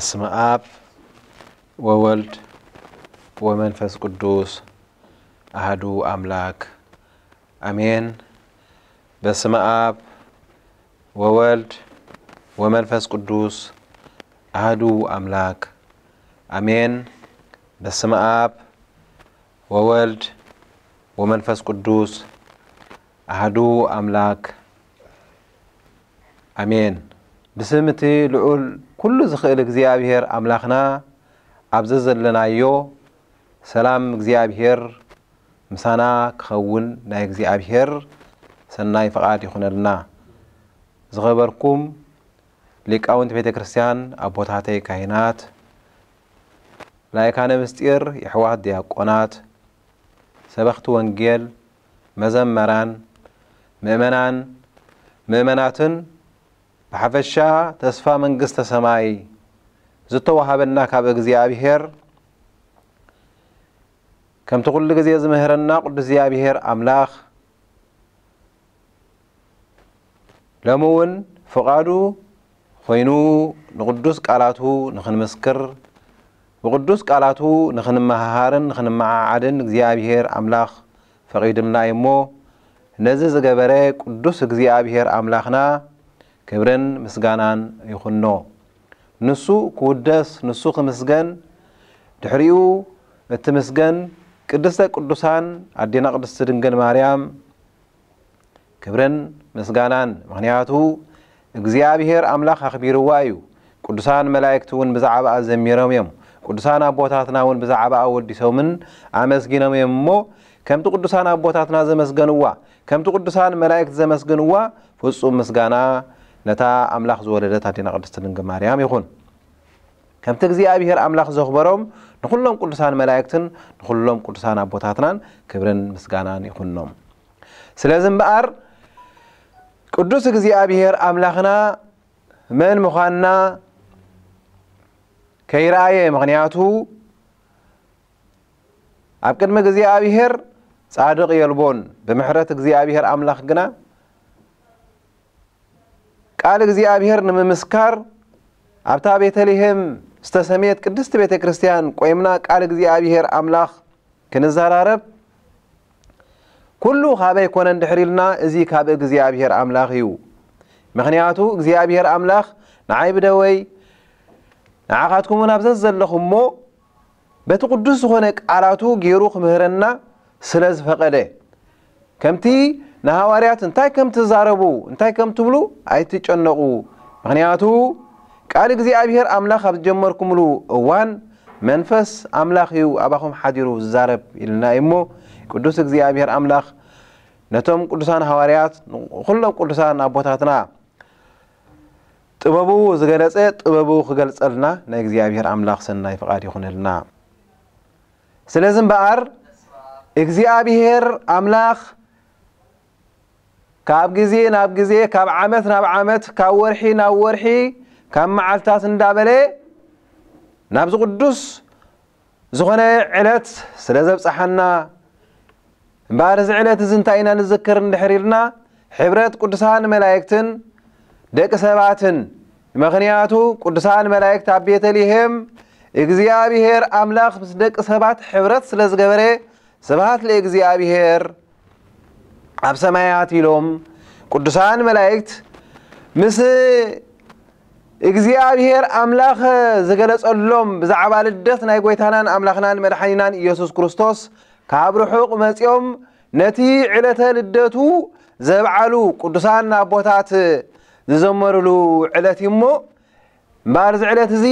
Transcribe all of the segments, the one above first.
በስመ አብ ወወልድ ወመንፈስ ቅዱስ አሐዱ አምላክ አሜን። በስመ አብ ወወልድ ወመንፈስ ቅዱስ አሐዱ አምላክ አሜን። በስመ አብ ወወልድ ወመንፈስ ቅዱስ አሐዱ አምላክ አሜን። ብስም እቲ ልዑል ኩሉ ዝኽእል እግዚኣብሔር ኣምላኽና፣ ኣብ ዘዘለናዮ ሰላም እግዚኣብሔር ምሳና ክኸውን ናይ እግዚኣብሔር ሰናይ ፍቓድ ይኹነልና። ዝኸበርኩም ሊቃውንቲ ቤተ ክርስቲያን፣ ኣቦታተይ ካህናት፣ ላይካነ ምስጢር፣ የሕዋት ዲያቆናት፣ ሰበኽቲ ወንጌል፣ መዘመራን፣ ምእመናን፣ ምእመናትን፣ ብሓፈሻ ተስፋ መንግስተ ሰማይ ዝተዋሃበና ካብ እግዚኣብሔር፣ ከምቲ ኩሉ ግዜ ዝምህረና ቅዱስ እግዚኣብሔር ኣምላኽ፣ ሎሚ እውን ፍቓዱ ኮይኑ ንቅዱስ ቃላቱ ንኽንምስክር፣ ብቅዱስ ቃላቱ ንኽንመሃሃርን ንኽንመዓዓድን እግዚኣብሔር ኣምላኽ ፈቒድልና እዩ እሞ፣ ነዚ ዝገበረ ቅዱስ እግዚኣብሔር ኣምላኽና ክብርን ምስጋናን ይኹኖ። ንሱ ክውደስ፣ ንሱ ክምስገን፣ ድሕሪኡ እትምስገን ቅድስተ ቅዱሳን ኣዴና ቅድስቲ ድንግል ማርያም ክብርን ምስጋናን፣ ምኽንያቱ እግዚኣብሔር ኣምላኽ ኣኽቢርዋ እዩ። ቅዱሳን መላእክቲ እውን ብዛዕባኣ ዘሚሮም እዮም። ቅዱሳን ኣቦታትና እውን ብዛዕባኣ ወዲሶምን ኣመስጊኖም እዮም እሞ፣ ከምቲ ቅዱሳን ኣቦታትና ዘመስገንዋ፣ ከምቲ ቅዱሳን መላእክቲ ዘመስግንዋ፣ ፍጹም ምስጋና ነታ ኣምላኽ ዝወለደት ኣዴና ቅድስቲ ድንግል ማርያም ይኹን። ከምቲ እግዚኣብሔር ኣምላኽ ዘኽበሮም፣ ንኹሎም ቅዱሳን መላእክትን ንኹሎም ቅዱሳን ኣቦታትናን ክብርን ምስጋናን ይኹኖም። ስለዚ እምበኣር ቅዱስ እግዚኣብሔር ኣምላኽና መን ምዃንና ከይረኣየ፣ ምኽንያቱ ኣብ ቅድሚ እግዚኣብሔር ጻድቕ የልቦን። ብምሕረት እግዚኣብሔር ኣምላኽ ግና ቃል እግዚኣብሔር ንምምስካር ኣብታ ቤተልሔም ዝተሰምየት ቅድስቲ ቤተ ክርስቲያን ቆይምና ቃል እግዚኣብሔር ኣምላኽ ክንዘራረብ፣ ኩሉ ካበይ ኮነ እንድሕር ኢልና፣ እዚ ካብ እግዚኣብሔር ኣምላኽ እዩ። ምኽንያቱ እግዚኣብሔር ኣምላኽ ንዓይ ብደወይ ንዓኻትኩም እውን ኣብ ዘዘለኹሞ በቲ ቅዱስ ዝኾነ ቃላቱ ገይሩ ክምህረና ስለ ዝፈቐደ፣ ከምቲ ንሃዋርያት እንታይ ከም ትዛረቡ፣ እንታይ ከም ትብሉ ኣይትጨነቑ። ምኽንያቱ ቃል እግዚኣብሔር ኣምላኽ ኣብ ዝጀመርኩምሉ እዋን መንፈስ ኣምላኽ እዩ ኣባኹም ሓዲሩ ዝዛረብ ኢልና እዩ እሞ፣ ቅዱስ እግዚኣብሔር ኣምላኽ ነቶም ቅዱሳን ሃዋርያት፣ ንኹሎም ቅዱሳን ኣቦታትና ጥበቡ ዝገለጸ ጥበቡ ክገልጸልና ናይ እግዚኣብሔር ኣምላኽ ሰናይ ፍቓድ ይኹነልና። ስለዚ እምበኣር እግዚኣብሔር ኣምላኽ ካብ ግዜ ናብ ግዜ፣ ካብ ዓመት ናብ ዓመት፣ ካብ ወርሒ ናብ ወርሒ፣ ካብ መዓልታት እንዳበለ ናብዚ ቅዱስ ዝኾነ ዕለት ስለ ዘብጽሓና፣ እምበኣር እዚ ዕለት እዚ እንታይ ኢና ንዝክር እንድሕር ኢልና፣ ሕብረት ቅዱሳን መላእክትን ደቂ ሰባትን። ምኽንያቱ ቅዱሳን መላእክት ኣብ ቤተልሔም እግዚኣብሔር ኣምላኽ ምስ ደቂ ሰባት ሕብረት ስለ ዝገበረ፣ ስብሐት ለእግዚኣብሔር ኣብ ሰማያት ኢሎም ቅዱሳን መላእክት ምስ እግዚኣብሔር ኣምላኽ ዝገለጸሎም ብዛዕባ ልደት ናይ ጐይታናን ኣምላኽናን መድሓኒናን ኢየሱስ ክርስቶስ ካብ ርሑቕ መጺኦም ነቲ ዕለተ ልደቱ ዘብዓሉ ቅዱሳን ኣቦታት ዝዘመሩሉ ዕለት እዩ እሞ፣ እምበኣር እዚ ዕለት እዚ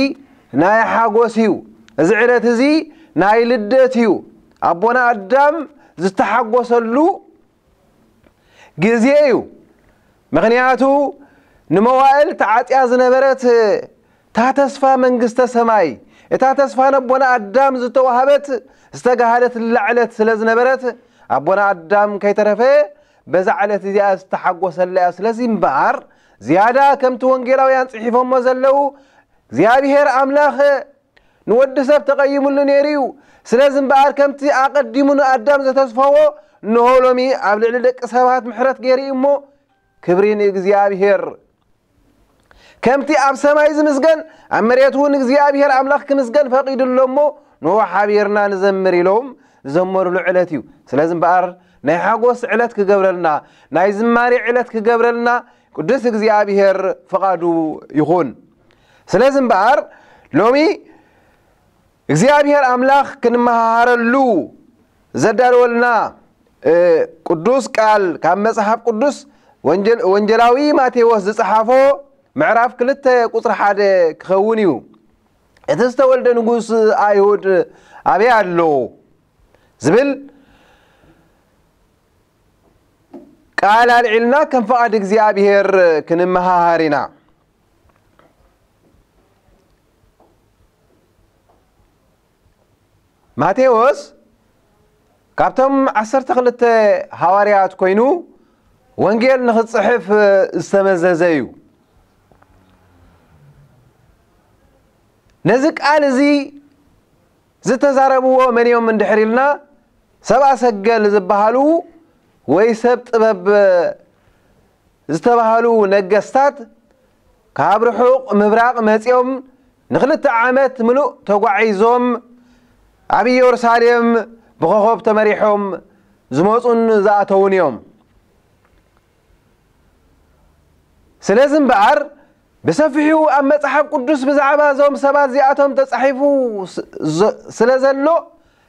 ናይ ሓጎስ እዩ። እዚ ዕለት እዚ ናይ ልደት እዩ። ኣቦና ኣዳም ዝተሓጎሰሉ ግዜ እዩ። ምኽንያቱ ንመዋእል ተዓጽያ ዝነበረት እታ ተስፋ መንግስተ ሰማይ፣ እታ ተስፋ ነቦና ኣዳም ዝተዋህበት ዝተጋህደትላ ዕለት ስለ ዝነበረት፣ ኣቦና ኣዳም ከይተረፈ በዛ ዕለት እዚኣ ዝተሓጎሰላ እያ። ስለዚ እምበኣር ዝያዳ ከምቲ ወንጌላውያን ጽሒፎሞ ዘለዉ እግዚኣብሔር ኣምላኽ ንወዲ ሰብ ተቐይሙሉ ነይሩ እዩ። ስለዚ እምበኣር ከምቲ ኣቐዲሙ ንኣዳም ዘተስፈዎ፣ እንሆ ሎሚ ኣብ ልዕሊ ደቂ ሰባት ምሕረት ገይሩ እዩ እሞ፣ ክብሪ ንእግዚኣብሔር። ከምቲ ኣብ ሰማይ ዝምስገን፣ ኣብ መሬት እውን እግዚኣብሔር ኣምላኽ ክምስገን ፈቒዱ ኣሎ እሞ፣ ንዑ ሓቢርና ንዘምር ኢሎም ዝዘመሩሉ ዕለት እዩ። ስለዚ እምበኣር ናይ ሓጎስ ዕለት ክገብረልና፣ ናይ ዝማሬ ዕለት ክገብረልና ቅዱስ እግዚኣብሔር ፍቓዱ ይኹን። ስለዚ እምበኣር ሎሚ እግዚኣብሔር ኣምላኽ ክንመሃረሉ ዘዳለወልና፣ እ፣ ቅዱስ ቃል ካብ መጽሓፍ ቅዱስ ወንጀል-፣ ወንጀላዊ ማቴዎስ ዝጸሓፎ ምዕራፍ ክልተ ቁጽሪ ሓደ ክኸውን እዩ። እቲ ዝተወልደ ንጉስ ኣይሁድ ኣበይ ኣሎ ዝብል ቃል ኣልዒልና ከም ፍቓድ እግዚኣብሔር ክንመሃሃር ኢና። ማቴዎስ ካብቶም ዓሰርተ ክልተ ሃዋርያት ኮይኑ ወንጌል ንኽጽሕፍ ዝተመዘዘ እዩ። ነዚ ቃል እዚ ዝተዛረብዎ መን እዮም እንድሕር ኢልና፣ ሰብኣ ሰገል ዝበሃሉ ወይ ሰብ ጥበብ ዝተባህሉ ነገስታት ካብ ርሑቕ ምብራቕ መጺኦም ንኽልተ ዓመት ምሉእ ተጓዒዞም ኣብ ኢየሩሳሌም ብኾኾብ ተመሪሖም ዝመጹን ዝኣተዉን እዮም። ስለዚ እምበኣር ብሰፊሑ ኣብ መጽሓፍ ቅዱስ ብዛዕባ እዞም ሰባት እዚኣቶም ተጻሒፉ ስ-፣ ዝ-፣ ስለ ዘሎ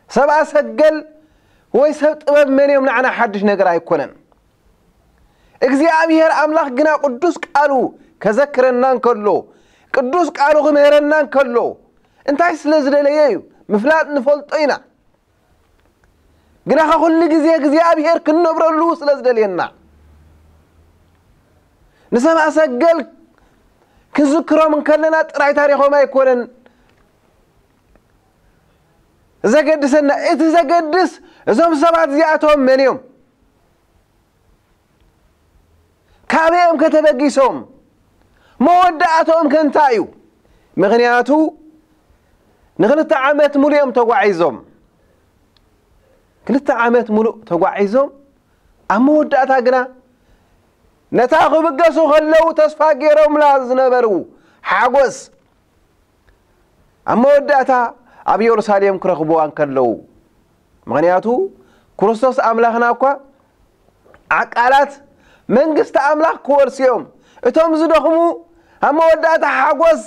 ሰብኣ ሰገል ወይ ሰብ ጥበብ መን እዮም ንዓና ሓድሽ ነገር ኣይኮነን። እግዚኣብሔር ኣምላኽ ግና ቅዱስ ቃሉ ከዘክረና እንከሎ፣ ቅዱስ ቃሉ ክምህረና እንከሎ እንታይ ስለ ዝደለየ እዩ? ምፍላጥ ንፈልጦ ኢና። ግናኸ ኩሉ ግዜ እግዚኣብሔር ክንነብረሉ ስለ ዝደልየና፣ ንሰብኣ ሰገል ክንዝክሮም እንከለና ጥራይ ታሪኾም ኣይኮነን ዘገድሰና። እቲ ዘገድስ እዞም ሰባት እዚኣቶም መን እዮም? ካበይ እዮም ከተበጊሶም? መወዳእታኦም ከ እንታይ እዩ? ምኽንያቱ ንኽልተ ዓመት ሙሉእ እዮም ተጓዒዞም። ክልተ ዓመት ሙሉእ ተጓዒዞም፣ ኣብ መወዳእታ ግና ነታ ክብገሱ ከለዉ ተስፋ ገይሮምላ ዝነበሩ ሓጎስ ኣብ መወዳእታ ኣብ ኢየሩሳሌም ክረኽብዋ እንከለዉ፣ ምኽንያቱ ክርስቶስ ኣምላኽና እኳ ዓቃላት መንግስቲ ኣምላኽ ክወርሱ እዮም። እቶም ዝደኽሙ ኣብ መወዳእታ ሓጎስ፣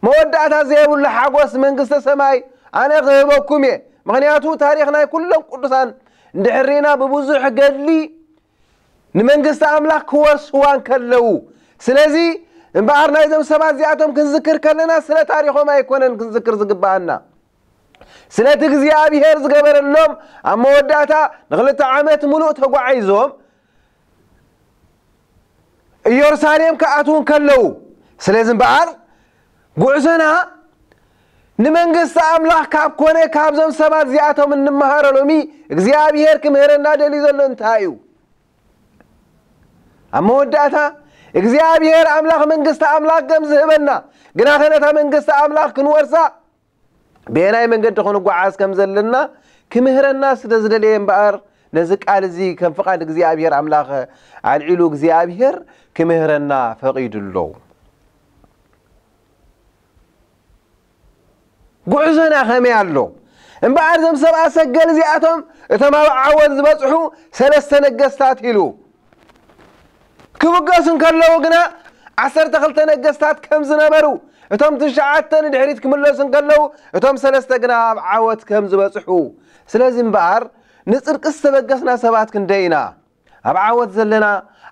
መወዳእታ ዘይብሉ ሓጎስ መንግስተ ሰማይ ኣነ ክህበኩም እየ። ምኽንያቱ ታሪኽ ናይ ኩሎም ቅዱሳን እንድሕር ርኢና ብብዙሕ ገድሊ ንመንግስቲ ኣምላኽ ክወርስዋ እንከለዉ። ስለዚ እምበኣር ናይዞም ሰባት እዚኣቶም ክንዝክር ከለና ስለ ታሪኾም ኣይኮነን ክንዝክር ዝግብኣና። ስለቲ እግዚኣብሔር ዝገበረሎም ኣብ መወዳእታ ንኽልተ ዓመት ሙሉእ ተጓዒዞም ኢየሩሳሌም ክኣትዉ እንከለዉ። ስለዚ እምበኣር ጉዕዞና ንመንግስቲ ኣምላኽ ካብ ኮነ ካብዞም ሰባት እዚኣቶም እንመሃሮ ሎሚ እግዚኣብሔር ክምህረና ደልዩ ዘሎ እንታይ እዩ? ኣብ መወዳእታ እግዚኣብሔር ኣምላኽ መንግስቲ ኣምላኽ ከም ዝህበና፣ ግናኸ ነታ መንግስቲ ኣምላኽ ክንወርሳ በየናይ መንገዲ ክንጓዓዝ ከም ዘለና ክምህረና ስለ ዝደለየ እምበኣር፣ ነዚ ቃል እዚ ከም ፍቓድ እግዚኣብሔር ኣምላኽ ኣልዒሉ እግዚኣብሔር ክምህረና ፈቒዱ ኣሎ። ጉዕዞና ከመይ ኣሎ? እምበኣር እዞም ሰብኣ ሰገል እዚኣቶም እቶም ኣብ ዓወት ዝበጽሑ ሰለስተ ነገስታት ኢሉ ክብገሱ እንከለዉ ግና ዓሰርተ ክልተ ነገስታት ከም ዝነበሩ፣ እቶም ትሽዓተ ንድሕሪት ክምለሱ እንከለዉ እቶም ሰለስተ ግና ኣብ ዓወት ከም ዝበጽሑ። ስለዚ እምበኣር ንጽድቂ ዝተበገስና ሰባት ክንደይ ኢና? ኣብ ዓወት ዘለና፣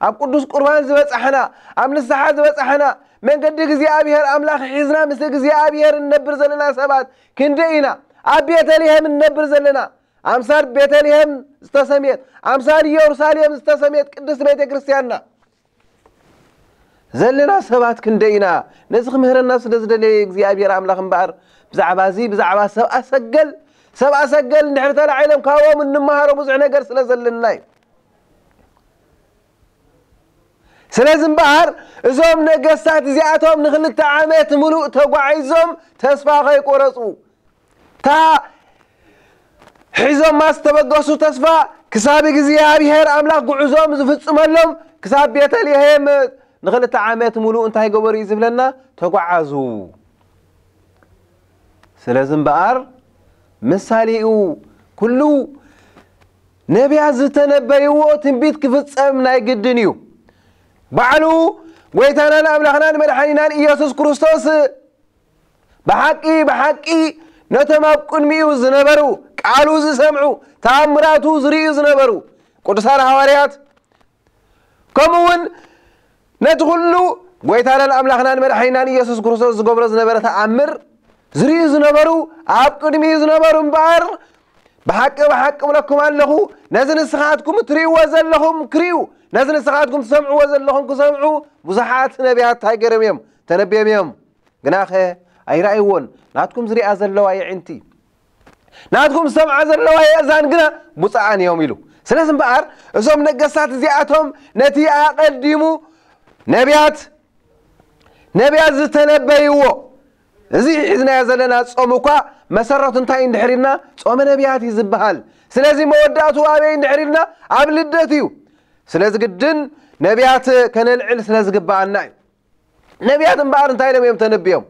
ኣብ ቅዱስ ቁርባን ዝበጻሕና፣ ኣብ ንስሓ ዝበጻሕና፣ መንገዲ እግዚኣብሔር ኣምላኽ ሒዝና ምስ እግዚኣብሔር እንነብር ዘለና ሰባት ክንደይ ኢና? ኣብ ቤተልሔም እንነብር ዘለና፣ ኣምሳል ቤተልሔም ዝተሰምየት፣ ኣምሳል ኢየሩሳሌም ዝተሰምየት ቅድስት ቤተ ክርስቲያንና ዘለና ሰባት ክንደይ ኢና? ነዚ ክምህረና ስለ ዝደለየ እግዚኣብሔር ኣምላኽ እምበኣር ብዛዕባ እዚ፣ ብዛዕባ ሰብኣ ሰገል፣ ሰብኣ ሰገል እንድሕር ተላዒሎም ካብኦም እንመሃሮ ብዙሕ ነገር ስለ ዘለና እዩ። ስለዚ እምበኣር እዞም ነገስታት እዚኣቶም ንክልተ ዓመት ምሉእ ተጓዒዞም ተስፋ ከይቆረጹ፣ እታ ሒዞማ ዝተበገሱ ተስፋ ክሳብ እግዚኣብሔር ኣምላኽ ጉዕዞም ዝፍጽመሎም፣ ክሳብ ቤተልሔም ንኽልተ ዓመት ሙሉእ እንታይ ገበሩ እዩ ዝብለና? ተጓዓዙ። ስለዚ እምበኣር ምሳሌኡ ኩሉ ነቢያት ዝተነበይዎ ትንቢት ክፍጸም ናይ ግድን እዩ። ባዕሉ ጎይታናን ኣምላኽናን መድሓኒናን ኢየሱስ ክርስቶስ ብሓቂ ብሓቂ ነቶም ኣብ ቅድሚኡ ዝነበሩ፣ ቃሉ ዝሰምዑ፣ ተኣምራቱ ዝርእዩ ዝነበሩ ቅዱሳን ሃዋርያት፣ ከምኡ እውን ነቲ ኩሉ ጎይታናን ኣምላኽናን መድሓኒናን ኢየሱስ ክርስቶስ ዝገብሮ ዝነበረ ተኣምር ዝርእዩ ዝነበሩ፣ ኣብ ቅድሚኡ ዝነበሩ እምበኣር፣ ብሓቂ ብሓቂ እብለኩም ኣለኹ፣ ነዚ ንስኻትኩም እትርእይዎ ዘለኹም ክርእዩ፣ ነዚ ንስኻትኩም ትሰምዕዎ ዘለኹም ክሰምዑ ብዙሓት ነቢያት እንታይ ገይሮም እዮም? ተነብዮም እዮም። ግናኸ ኣይረኣይዎን። ናትኩም ዝሪኣ ዘለዋ የዒንቲ፣ ናትኩም ዝሰምዓ ዘለዋ የእዛን ግና ብፁዓን እዮም ኢሉ። ስለዚ እምበኣር እዞም ነገስታት እዚኣቶም ነቲ ኣቐዲሙ ነቢያት ነቢያት ዝተነበይዎ፣ እዚ ሒዝናዮ ዘለና ጾም እኳ መሰረቱ እንታይ እንድሕር ኢልና ጾመ ነቢያት እዩ ዝበሃል። ስለዚ መወዳእቱ ኣበይ እንድሕር ኢልና ኣብ ልደት እዩ። ስለዚ ግድን ነቢያት ከነልዕል ስለ ዝግብኣና እዩ። ነቢያት እምበኣር እንታይ ኢሎም እዮም ተነብዮም?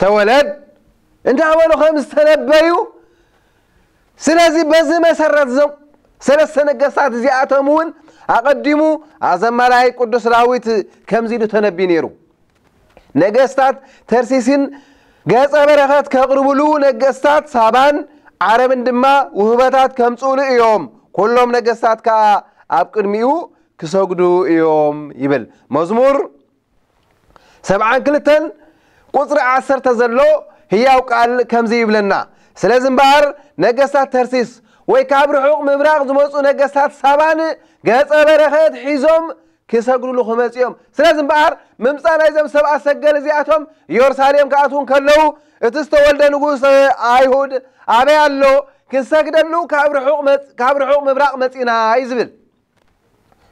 ተወለድ እንዳበሉ ከም ዝተነበዩ። ስለዚ በዚ መሰረት እዞም ሰለስተ ነገስታት እዚኣቶም እውን ኣቐዲሙ ኣዘማላይ ቅዱስ ዳዊት ከምዚ ኢሉ ተነብዩ ነይሩ። ነገስታት ተርሲስን ገጸ በረኸት ከቕርብሉ፣ ነገስታት ሳባን ዓረብን ድማ ውህበታት ከምጽኡሉ እዮም። ኩሎም ነገስታት ከኣ ኣብ ቅድሚኡ ክሰግዱ እዮም ይብል። መዝሙር ሰብዓን ክልተን ቁጽሪ ዓሰርተ ዘሎ ህያው ቃል ከምዚ ይብለና። ስለዚ እምበኣር ነገስታት ተርሲስ ወይ ካብ ርሑቕ ምብራቕ ዝመጹ ነገስታት ሳባን ገጸ በረኸት ሒዞም ክሰግዱሉ ክመጽኡ እዮም። ስለዚ እምበኣር ምምጻእ ናይዞም ሰብኣ ሰገል እዚኣቶም ኢየሩሳሌም ክኣትዉ እንከለዉ፣ እቲ ዝተወልደ ንጉስ ኣይሁድ ኣበይ ኣሎ? ክንሰግደሉ ካብ ርሑቕ መጽ-፣ ካብ ርሑቕ ምብራቕ መጺና እዩ ዝብል።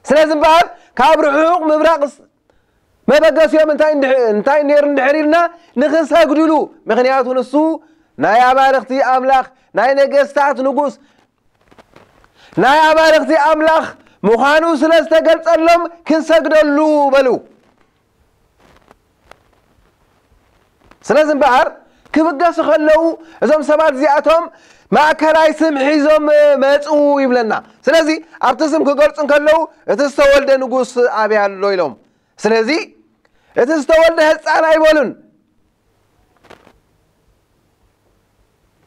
ስለዚ እምበኣር ካብ ርሑቕ ምብራቕ ስ-፣ መበገሲኦም እንታይ እንድሕ-፣ እንታይ ነይሩ እንድሕር ኢልና ንኽንሰግድሉ። ምኽንያቱ ንሱ ናይ ኣማልኽቲ ኣምላኽ፣ ናይ ነገስታት ንጉስ፣ ናይ ኣማልኽቲ ኣምላኽ ምዃኑ ስለ ዝተገልጸሎም ክንሰግደሉ በሉ። ስለዚ እምበኣር ክብገሱ ከለዉ እዞም ሰባት እዚኣቶም ማእከላይ ስም ሒዞም መጹ ይብለና። ስለዚ ኣብቲ ስም ክገልጹ እንከለዉ እቲ ዝተወልደ ንጉስ ኣበይ ኣሎ ኢሎም። ስለዚ እቲ ዝተወልደ ህጻን ኣይበሉን።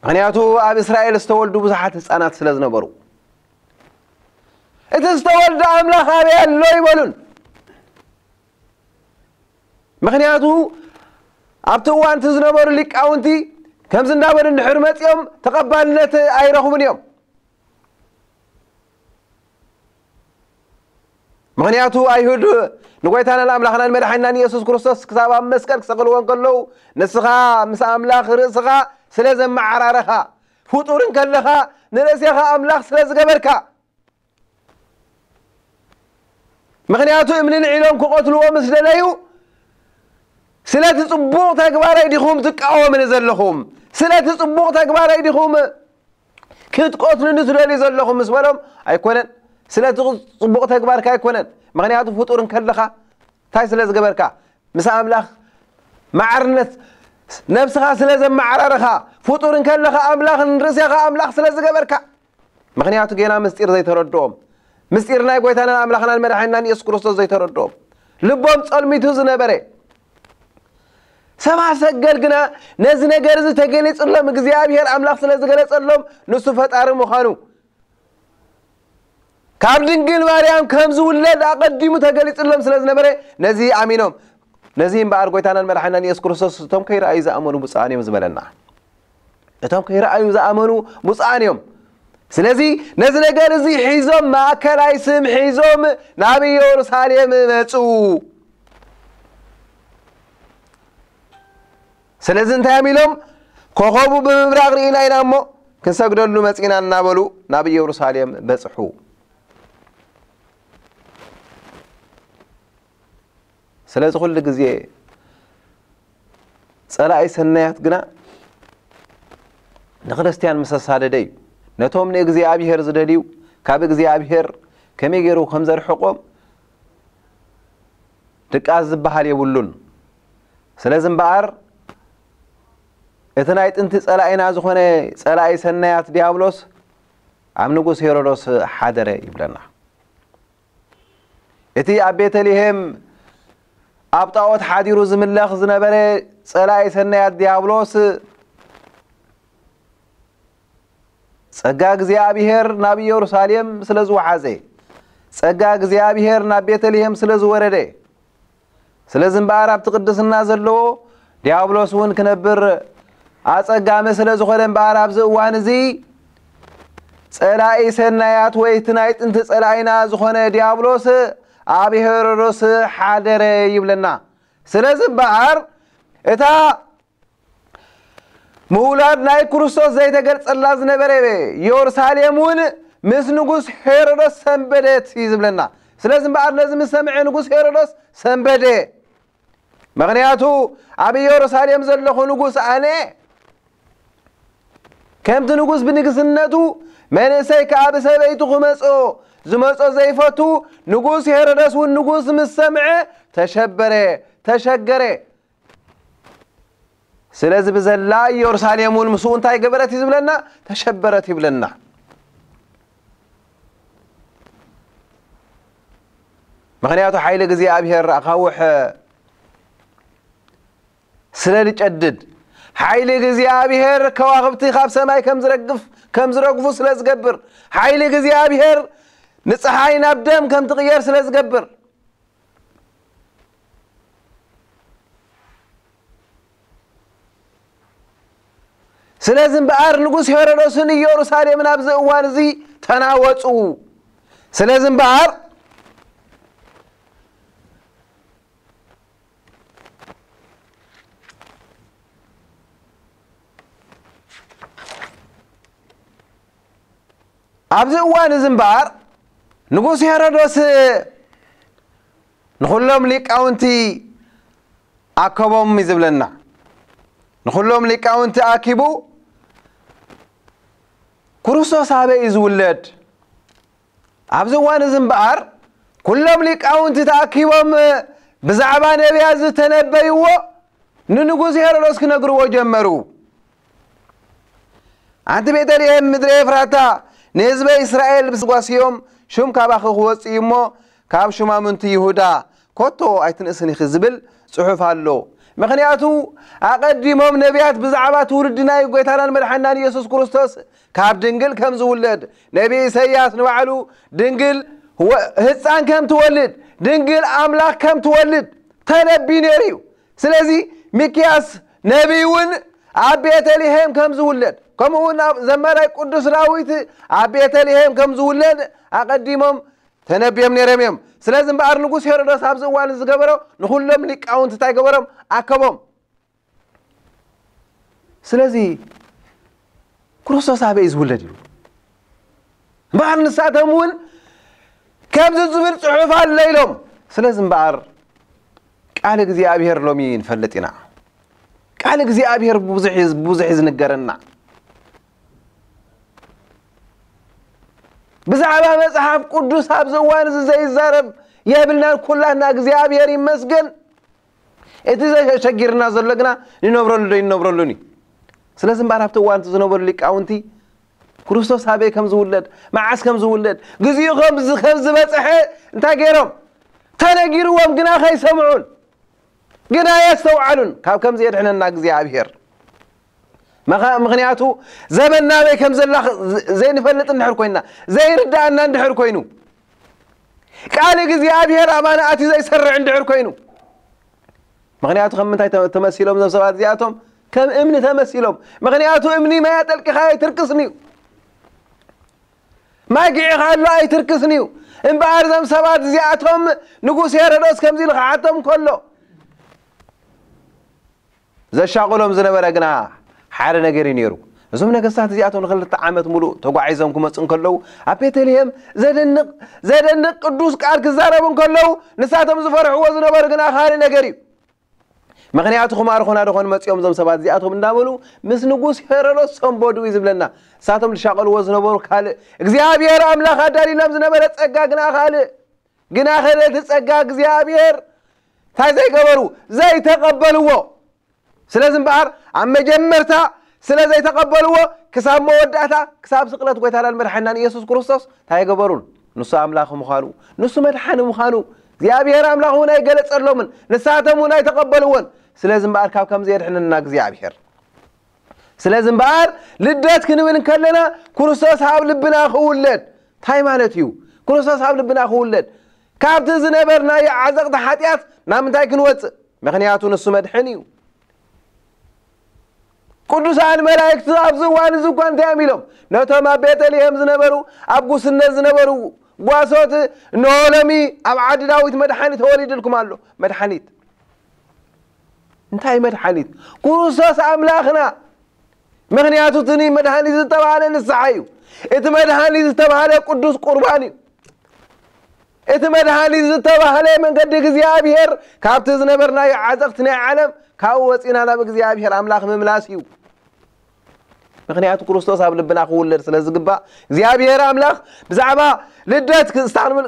ምኽንያቱ ኣብ እስራኤል ዝተወልዱ ብዙሓት ህጻናት ስለ ዝነበሩ። እቲ ዝተወልደ ኣምላኽ ኣበይ ኣሎ ኣይበሉን። ምኽንያቱ ኣብቲ እዋን እቲ ዝነበሩ ሊቃውንቲ ከምዚ እንዳበሉ እንድሕር መጺኦም ተቐባልነት ኣይረኽቡን እዮም። ምኽንያቱ ኣይሁድ ንጎይታናን ኣምላኽናን መድሓኒናን ኢየሱስ ክርስቶስ ክሳብ ኣብ መስቀል ክሰቕልዎ እንከለዉ፣ ንስኻ ምስ ኣምላኽ ርእስኻ ስለ ዘመዓራረኻ፣ ፍጡር እንከለኻ ንርእሴኻ ኣምላኽ ስለ ዝገበርካ፣ ምኽንያቱ እምኒ ልዒሎም ክቐትልዎ ምስ ደለዩ፣ ስለቲ ጽቡቕ ተግባረይ ዲኹም ትቃወምኒ ዘለኹም? ስለቲ ጽቡቕ ተግባረይ ዲኹም ክትቀትሉኒ ትደልዩ ዘለኹም? ምስ በሎም፣ ኣይኮነን፣ ስለቲ ጽቡቕ ተግባርካ ኣይኮነን። ምኽንያቱ ፍጡር እንከለኻ እንታይ ስለ ዝገበርካ? ምስ ኣምላኽ ማዕርነት ነብስኻ ስለ ዘመዓራረኻ፣ ፍጡር እንከለኻ ኣምላኽ ንርእሴኻ ኣምላኽ ስለ ዝገበርካ። ምኽንያቱ ጌና ምስጢር ዘይተረድኦም፣ ምስጢር ናይ ጎይታናን ኣምላኽናን መድሓኒናን ኢየሱስ ክርስቶስ ዘይተረድኦም፣ ልቦም ጸልሚቱ ዝነበረ ሰብኣ ሰገል ግና ነዚ ነገር እዚ ተገሊጽሎም፣ እግዚኣብሔር ኣምላኽ ስለ ዝገለጸሎም ንሱ ፈጣሪ ምዃኑ፣ ካብ ድንግል ማርያም ከም ዝውለድ ኣቐዲሙ ተገሊጽሎም ስለ ዝነበረ ነዚ ኣሚኖም። ነዚ እምበኣር ጎይታናን መድሓኒናን ኢየሱስ ክርስቶስ እቶም ከይረኣዩ ዝኣመኑ ብፁዓን እዮም ዝበለና። እቶም ከይረኣዩ ዝኣመኑ ብፁዓን እዮም። ስለዚ ነዚ ነገር እዚ ሒዞም፣ ማእከላይ ስም ሒዞም ናብ ኢየሩሳሌም መጹ። ስለዚ እንታይ እዮም ኢሎም? ኮኸቡ ብምብራቕ ርኢና ኢና እሞ ክንሰግደሉ መጺና እናበሉ ናብ ኢየሩሳሌም በጽሑ። ስለዚ ኩሉ ግዜ ጸላኢ ሰናያት ግና ንክርስቲያን ምስ ኣሳደደ እዩ። ነቶም ንእግዚኣብሔር ዝደልዩ ካብ እግዚኣብሔር ከመይ ገይሩ ከም ዘርሕቖም ድቃስ ዝበሃል የብሉን። ስለዚ እምበኣር እቲ ናይ ጥንቲ ጸላኢና ዝኾነ ጸላኢ ሰናያት ዲያብሎስ ኣብ ንጉስ ሄሮዶስ ሓደረ ይብለና። እቲ ኣብ ቤተልሔም ኣብ ጣዖት ሓዲሩ ዝምለኽ ዝነበረ ጸላኢ ሰናያት ዲያብሎስ ጸጋ እግዚኣብሔር ናብ ኢየሩሳሌም ስለ ዝወሓዘ፣ ጸጋ እግዚኣብሔር ናብ ቤተልሔም ስለ ዝወረደ፣ ስለዚ እምበኣር ኣብቲ ቅድስና ዘለዎ ዲያብሎስ እውን ክነብር ኣጸጋሚ ስለ ዝኾነ እምበኣር ኣብዚ እዋን እዚ ጸላኢ ሰናያት ወይ እቲ ናይ ጥንቲ ጸላኢና ዝኾነ ዲያብሎስ ኣብ ሄሮዶስ ሓደረ ይብለና። ስለዚ እምበኣር እታ ምውላድ ናይ ክርስቶስ ዘይተገልጸላ ዝነበረ ኢየሩሳሌም እውን ምስ ንጉስ ሄሮዶስ ሰንበደት እዩ ዝብለና። ስለዚ እምበኣር ነዚ ምስ ሰምዐ ንጉስ ሄሮዶስ ሰንበደ። ምኽንያቱ ኣብ ኢየሩሳሌም ዘለኹ ንጉስ ኣነ ከምቲ ንጉስ ብንግስነቱ መንእሰይ ከኣ ብሰበይቱ ክመጾ ዝመጾ ዘይፈቱ ንጉስ ሄሮደስ እውን ንጉስ ምስ ሰምዐ ተሸበረ፣ ተሸገረ። ስለዚ ብዘላ ኢየሩሳሌም እውን ምስኡ እንታይ ገበረት እዩ ዝብለና? ተሸበረት ይብለና። ምኽንያቱ ሓይሊ እግዚኣብሔር ኣኻውሕ ስለ ዝጨድድ፣ ሓይሊ እግዚኣብሔር ከዋኽብቲ ካብ ሰማይ ከም ዝረግፍ ከም ዝረግፉ ስለ ዝገብር፣ ሓይሊ እግዚኣብሔር ንፀሓይ ናብ ደም ከም ትቕየር ስለ ዝገብር፣ ስለዚ እምበኣር ንጉስ ሄሮዶስን ኢየሩሳሌምን ኣብዚ እዋን እዚ ተናወፁ። ስለዚ እምበኣር ኣብዚ እዋን እዚ እምበኣር ንጉስ ሄሮዶስ ንኹሎም ሊቃውንቲ ኣከቦም እዩ ዝብለና። ንኹሎም ሊቃውንቲ ኣኪቡ፣ ክርስቶስ ኣበይ እዩ ዝውለድ? ኣብዚ እዋን እዚ እምበኣር ኩሎም ሊቃውንቲ ተኣኪቦም ብዛዕባ ነቢያት ዝተነበይዎ ንንጉስ ሄሮዶስ ክነግርዎ ጀመሩ። ኣንቲ ቤተልሔም ምድረ ኤፍራታ፣ ንህዝበ እስራኤል ብስጓስዮም ሹም ካባኺ ክወጽእ እዩ እሞ፣ ካብ ሹማምንቲ ይሁዳ ኮቶ ኣይትንእስን ኢኺ ዝብል ጽሑፍ ኣሎ። ምኽንያቱ ኣቐዲሞም ነቢያት ብዛዕባ ትውልዲ ናይ ጎይታናን መድሓናን ኢየሱስ ክርስቶስ ካብ ድንግል ከም ዝውለድ፣ ነቢ ኢሳይያስ ንባዕሉ ድንግል ወ-፣ ህፃን ከም ትወልድ፣ ድንግል ኣምላኽ ከም ትወልድ ተነብዩ ነይሩ እዩ። ስለዚ ሚክያስ ነቢይ እውን ኣብ ቤተልሔም ከም ዝውለድ፣ ከምኡ እውን ኣብ ዘማራይ ቅዱስ ዳዊት ኣብ ቤተልሔም ከም ዝውለድ ኣቐዲሞም ተነብዮም ነይሮም እዮም። ስለዚ እምበኣር ንጉስ ሄሮዶስ ኣብዚ እዋን ዝገበሮ ንኹሎም ሊቃውንቲ እንታይ ገበሮም? ኣከቦም። ስለዚ ክርስቶስ ኣበይ እዩ ዝውለድ ኢሉ። እምበኣር ንሳቶም እውን ከምዚ ዝብል ጽሑፍ ኣሎ ኢሎም። ስለዚ እምበኣር ቃል እግዚኣብሔር ሎሚ ንፈልጥ ኢና። ቃል እግዚኣብሔር ብዙሕ እዩ፣ ብዙሕ እዩ ዝንገረና። ብዛዕባ መጽሓፍ ቅዱስ ኣብዚ እዋን እዚ ዘይዛረብ የብልናን። ኩላትና እግዚኣብሔር ይመስገን። እቲ ዘሸጊርና ዘሎ ግና ንነብረሉ ዶ ይነብረሉን እዩ። ስለዚ እምበኣር ኣብቲ እዋን እቲ ዝነበሩ ሊቃውንቲ ክርስቶስ ኣበይ ከም ዝውለድ፣ መዓስ ከም ዝውለድ፣ ግዜኡ ከም ዝ-፣ ከም ዝበጽሐ እንታይ ገይሮም? ተነጊርዎም ግና ከይሰምዑን ግና የስተውዓሉን። ካብ ከምዚ የድሕነና እግዚኣብሔር። መኸ-፣ ምኽንያቱ ዘበን ናበይ ከም ዘላ ኸ-፣ ዘ-፣ ዘይንፈልጥ እንድሕር ኮይንና፣ ዘይርድኣና እንድሕር ኮይኑ፣ ቃል እግዚኣብሔር ኣባና ኣትዩ ዘይሰርዕ እንድሕር ኮይኑ፣ ምኽንያቱ ከም ምንታይ ተ-፣ ተመሲሎም እዞም ሰባት እዚኣቶም? ከም እምኒ ተመሲሎም። ምኽንያቱ እምኒ ማይ ኣጠልቂኻ ኣይትርክስን እዩ። ማይ ግዒኻ ኣሎ ኣይትርክስን እዩ። እምበኣር እዞም ሰባት እዚኣቶም ንጉስ ሄሮዶስ ከምዚ ኢሉ ክሓቶም ከሎ፣ ዘሻቕሎም ዝነበረ ግና ሓደ ነገር እዩ ነይሩ። እዞም ነገስታት እዚኣቶም ንክልተ ዓመት ሙሉእ ተጓዒዞም ክመፁ እንከለዉ፣ ኣብ ቤተልሔም ዘደንቕ፣ ዘደንቕ ቅዱስ ቃል ክዛረቡ እንከለዉ፣ ንሳቶም ዝፈርሕዎ ዝነበሩ ግና ካልእ ነገር እዩ። ምኽንያቱ ክማርኹና ዶ ኾን መፂኦም እዞም ሰባት እዚኣቶም እንዳበሉ ምስ ንጉስ ሄሮዶስ ሰንበዱ እዩ ዝብለና። ንሳቶም ዝሻቐልዎ ዝነበሩ ካልእ፣ እግዚኣብሔር ኣምላኽ ኣዳልዩሎም ዝነበረ ጸጋ ግና ካልእ። ግና ኸ እቲ ጸጋ እግዚኣብሔር እንታይ ዘይገበሩ? ዘይተቐበልዎ። ስለዚ እምበኣር ኣብ መጀመርታ ስለ ዘይተቐበልዎ፣ ክሳብ መወዳእታ፣ ክሳብ ስቕለት ጎይታናን መድሓኒናን ኢየሱስ ክርስቶስ እንታይ ኣይገበሩን? ንሱ ኣምላኽ ምዃኑ፣ ንሱ መድሓኒ ምዃኑ እግዚኣብሔር ኣምላኽ እውን ኣይገለጸሎምን፣ ንሳቶም እውን ኣይተቐበልዎን። ስለዚ እምበኣር ካብ ከምዚ የድሕነና እግዚኣብሔር። ስለዚ እምበኣር ልደት ክንብል እንከለና ክርስቶስ ኣብ ልብና ክውለድ እንታይ ማለት እዩ? ክርስቶስ ኣብ ልብና ክውለድ ካብቲ ዝነበርናዮ ዓዘቕቲ ሓጢኣት ናብ ምንታይ ክንወፅእ? ምኽንያቱ ንሱ መድሕን እዩ። ቅዱሳን መላእክቲ ኣብዚ እዋን እዚ እኳ እንታይ እዮም ኢሎም? ነቶም ኣብ ቤተልሔም ዝነበሩ፣ ኣብ ጉስነት ዝነበሩ ጓሶት፣ እንሆ ሎሚ ኣብ ዓዲ ዳዊት መድሓኒት ተወሊድልኩም ኣሎ። መድሓኒት እንታይ መድሓኒት? ክርስቶስ ኣምላኽና። ምኽንያቱ እቲ መድሃኒት ዝተባህለ ንስሓ እዩ። እቲ መድሃኒት ዝተባህለ ቅዱስ ቁርባን እዩ። እቲ መድሃኒት ዝተባህለ መንገዲ እግዚኣብሔር ካብቲ ዝነበርናዮ ዓዘቕቲ ናይ ዓለም ካብኡ ወፂና ናብ እግዚኣብሔር ኣምላኽ ምምላስ እዩ። ምኽንያቱ ክርስቶስ ኣብ ልብና ክውለድ ስለ ዝግባእ እግዚኣብሔር ኣምላኽ ብዛዕባ ልደት ክስታንብል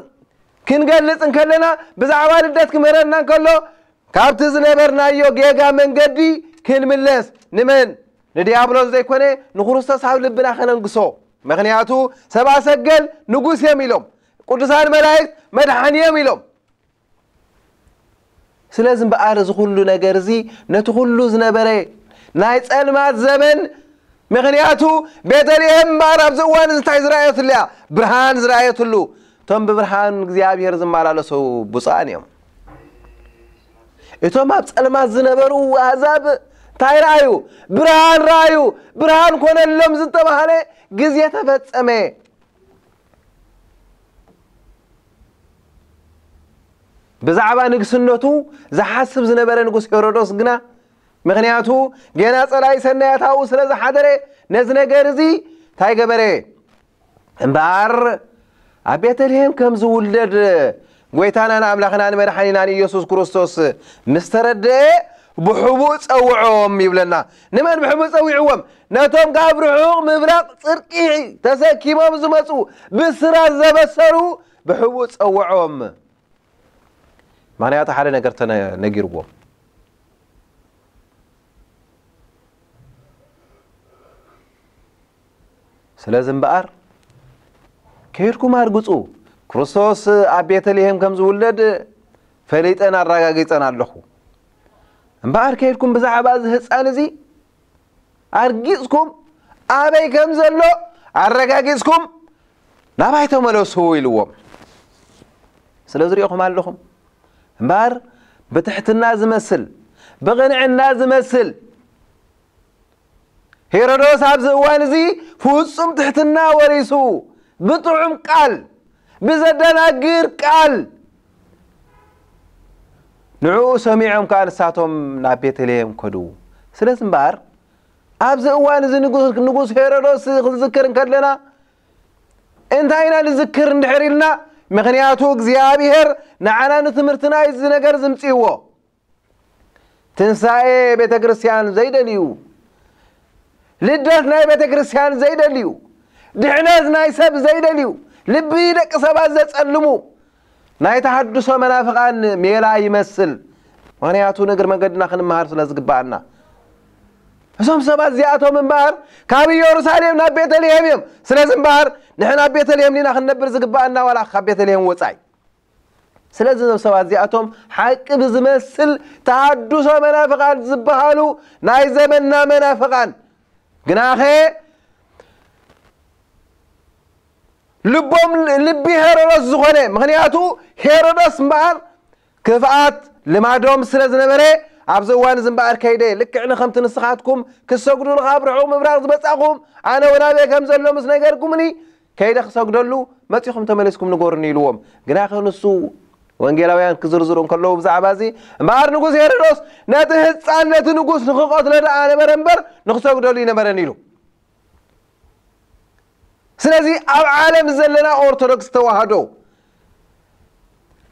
ክንገልጽ እንከለና ብዛዕባ ልደት ክምህረና እንከሎ ካብቲ ዝነበርናዮ ጌጋ መንገዲ ክንምለስ ንመን? ንዲያብሎስ ዘይኮነ ንክርስቶስ ኣብ ልብና ከነንግሶ። ምኽንያቱ ሰብኣ ሰገል ንጉስ እዮም ኢሎም፣ ቅዱሳን መላእክት መድሓኒ እዮም ኢሎም። ስለዚ እምበኣር እዚ ኩሉ ነገር እዚ ነቲ ኩሉ ዝነበረ ናይ ጸልማት ዘመን ምኽንያቱ ቤተልሔም እምበኣር ኣብዚ እዋን እዚ እንታይ ዝረኣየትሉ እያ? ብርሃን ዝረኣየትሉ። እቶም ብብርሃን እግዚኣብሔር ዝመላለሱ ብፁዓን እዮም። እቶም ኣብ ጸልማት ዝነበሩ ኣህዛብ እንታይ ረኣዩ? ብርሃን ረኣዩ። ብርሃን ኮነሎም ዝተባህለ ግዜ ተፈጸመ። ብዛዕባ ንግስነቱ ዝሓስብ ዝነበረ ንጉስ ሄሮዶስ ግና ምኽንያቱ ገና ጸላኢ ሰናያት ኣብኡ ስለ ዝሓደረ ነዚ ነገር እዚ እንታይ ገበረ? እምበኣር ኣብ ቤተልሔም ከም ዝውለድ ጎይታናን ኣምላኽናን መድሓኒናን ኢየሱስ ክርስቶስ ምስ ተረድአ ብሕቡእ ጸውዖም ይብለና። ንመን ብሕቡእ ጸዊዕዎም? ነቶም ካብ ርሑቕ ምብራቕ ጽድቂ ተሰኪሞም ዝመጹ ብስራት ዘበሰሩ ብሕቡእ ጸውዖም። ምኽንያቱ ሓደ ነገር ተነጊርዎም። ስለዚ እምበኣር ከይድኩም ኣርግጹ፣ ክርስቶስ ኣብ ቤተልሔም ከም ዝውለድ ፈሊጠን ኣረጋጊጸን ኣለኹ። እምበኣር ከይድኩም ብዛዕባ እዚ ህጻን እዚ ኣርጊጽኩም ኣበይ ከም ዘሎ ኣረጋጊጽኩም ናባይ ተመለሱ ኢልዎም። ስለዚ ሪኢኹም ኣለኹም እምበኣር ብትሕትና ዝመስል ብቕንዕና ዝመስል ሄሮዶስ ኣብዚ እዋን እዚ ፍጹም ትሕትና ወሪሱ ብጥዑም ቃል ብዘደናግር ቃል ንዕኡ ሰሚዖም ከኣ ንሳቶም ናብ ቤተልሔም ከዱ። ስለዚ እምበኣር ኣብዚ እዋን እዚ ንጉስ ሄሮዶስ ክንዝክር እንከለና እንታይ ኢና ንዝክር እንድሕር ኢልና? ምኽንያቱ እግዚኣብሔር ንዓና ንትምህርትና እዩ እዚ ነገር ዝምፅእዎ። ትንሳኤ ቤተ ክርስቲያን ዘይደልዩ፣ ልደት ናይ ቤተ ክርስቲያን ዘይደልዩ፣ ድሕነት ናይ ሰብ ዘይደልዩ፣ ልቢ ደቂ ሰባት ዘጸልሙ ናይ ተሃድሶ መናፍቓን ሜላ ይመስል። ምኽንያቱ ንእግር መንገድና ክንመሃር ስለ ዝግባኣና። እዞም ሰባት እዚኣቶም እምበኣር ካብ ኢየሩሳሌም ናብ ቤተልሔም እዮም። ስለዚ እምበኣር ንሕና ኣብ ቤተልሔም ዲና ክንነብር ዝግባኣና ዋላ ካብ ቤተልሔም ወጻኢ? ስለዚ እዞም ሰባት እዚኣቶም ሓቂ ብዝመስል ተሃድሶ መናፍቓን ዝበሃሉ ናይ ዘመንና መናፍቓን ግናኸ ልቦም ልቢ ሄሮዶስ ዝኾነ፣ ምኽንያቱ ሄሮዶስ እምበኣር ክፍኣት ልማዶም ስለ ዝነበረ ኣብዚ እዋን እዚ እምበኣር ከይደ ልክዕ ንኸምቲ ንስኻትኩም ክሰግዱሉ ካብ ርሑቕ ምብራቕ ዝመጻኹም ኣነ እውን ኣበይ ከም ዘሎ ምስ ነገርኩምኒ ከይደ ክሰግደሉ መጺኹም ተመሊስኩም ንገሩኒ ኢልዎም። ግናኸ ንሱ ወንጌላውያን ክዝርዝሩ እንከለዉ ብዛዕባ እዚ እምበኣር ንጉስ ሄሮዶስ ነቲ ህፃን ነቲ ንጉስ ንክቐትሎ ደኣ ነበረ እምበር ንክሰግደሉ ይነበረን ኢሉ። ስለዚ ኣብ ዓለም ዘለና ኦርቶዶክስ ተዋህዶ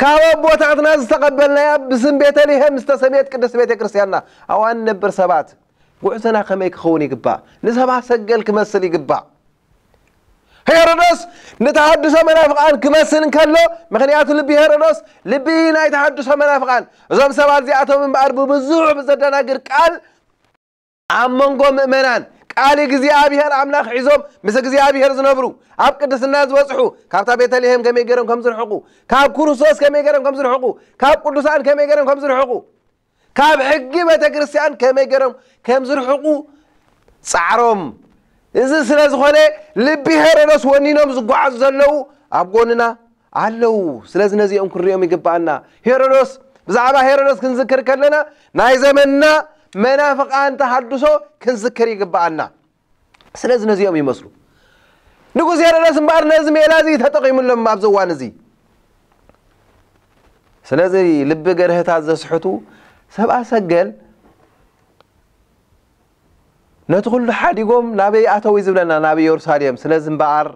ካብ ኣቦታትና ዝተቐበልናያ ብስም ቤተልሔም ዝተሰምየት ቅድስት ቤተ ክርስቲያንና ኣብኣ ንነብር ሰባት ጉዕዞና ከመይ ክኸውን ይግባእ? ንሰብኣ ሰገል ክመስል ይግባእ። ሄሮዶስ ንተሃድሶ መናፍቓን ክመስል እንከሎ፣ ምኽንያቱ ልቢ ሄሮዶስ ልቢ ናይ ተሃድሶ መናፍቓን፣ እዞም ሰባት እዚኣቶም እምበኣር ብብዙሕ ብዘደናግር ቃል ኣብ መንጎ ምእመናን ቃል እግዚኣብሔር ኣምላኽ ሒዞም ምስ እግዚኣብሔር ዝነብሩ፣ ኣብ ቅድስና ዝበጽሑ፣ ካብታ ቤተልሔም ከመይ ገይሮም ከም ዝርሕቑ፣ ካብ ክርስቶስ ከመይ ገይሮም ከም ዝርሕቑ፣ ካብ ቅዱሳን ከመይ ገይሮም ከም ዝርሕቑ፣ ካብ ሕጊ ቤተ ክርስቲያን ከመይ ገይሮም ከም ዝርሕቑ ጻዕሮም። እዚ ስለ ዝኾነ ልቢ ሄሮዶስ ወኒኖም ዝጓዓዙ ዘለዉ ኣብ ጎንና ኣለዉ። ስለዚ ነዚኦም ክንሪኦም ይግብኣና። ሄሮዶስ፣ ብዛዕባ ሄሮዶስ ክንዝክር ከለና ናይ ዘመንና መናፍቓን ተሃድሶ ክንዝክር ይግብኣና። ስለዚ ነዚኦም ይመስሉ። ንጉስ ሄሮዶስ እምበኣር ነዚ ሜላ እዚ ተጠቒሙሎም ኣብዚ እዋን እዚ። ስለዚ ልቢ ገርህታት ዘስሕቱ ሰብኣ ሰገል ነቲ ኩሉ ሓዲጎም ናበይ ኣተው እዩ ዝብለና? ናብ ኢየሩሳሌም። ስለዚ እምበኣር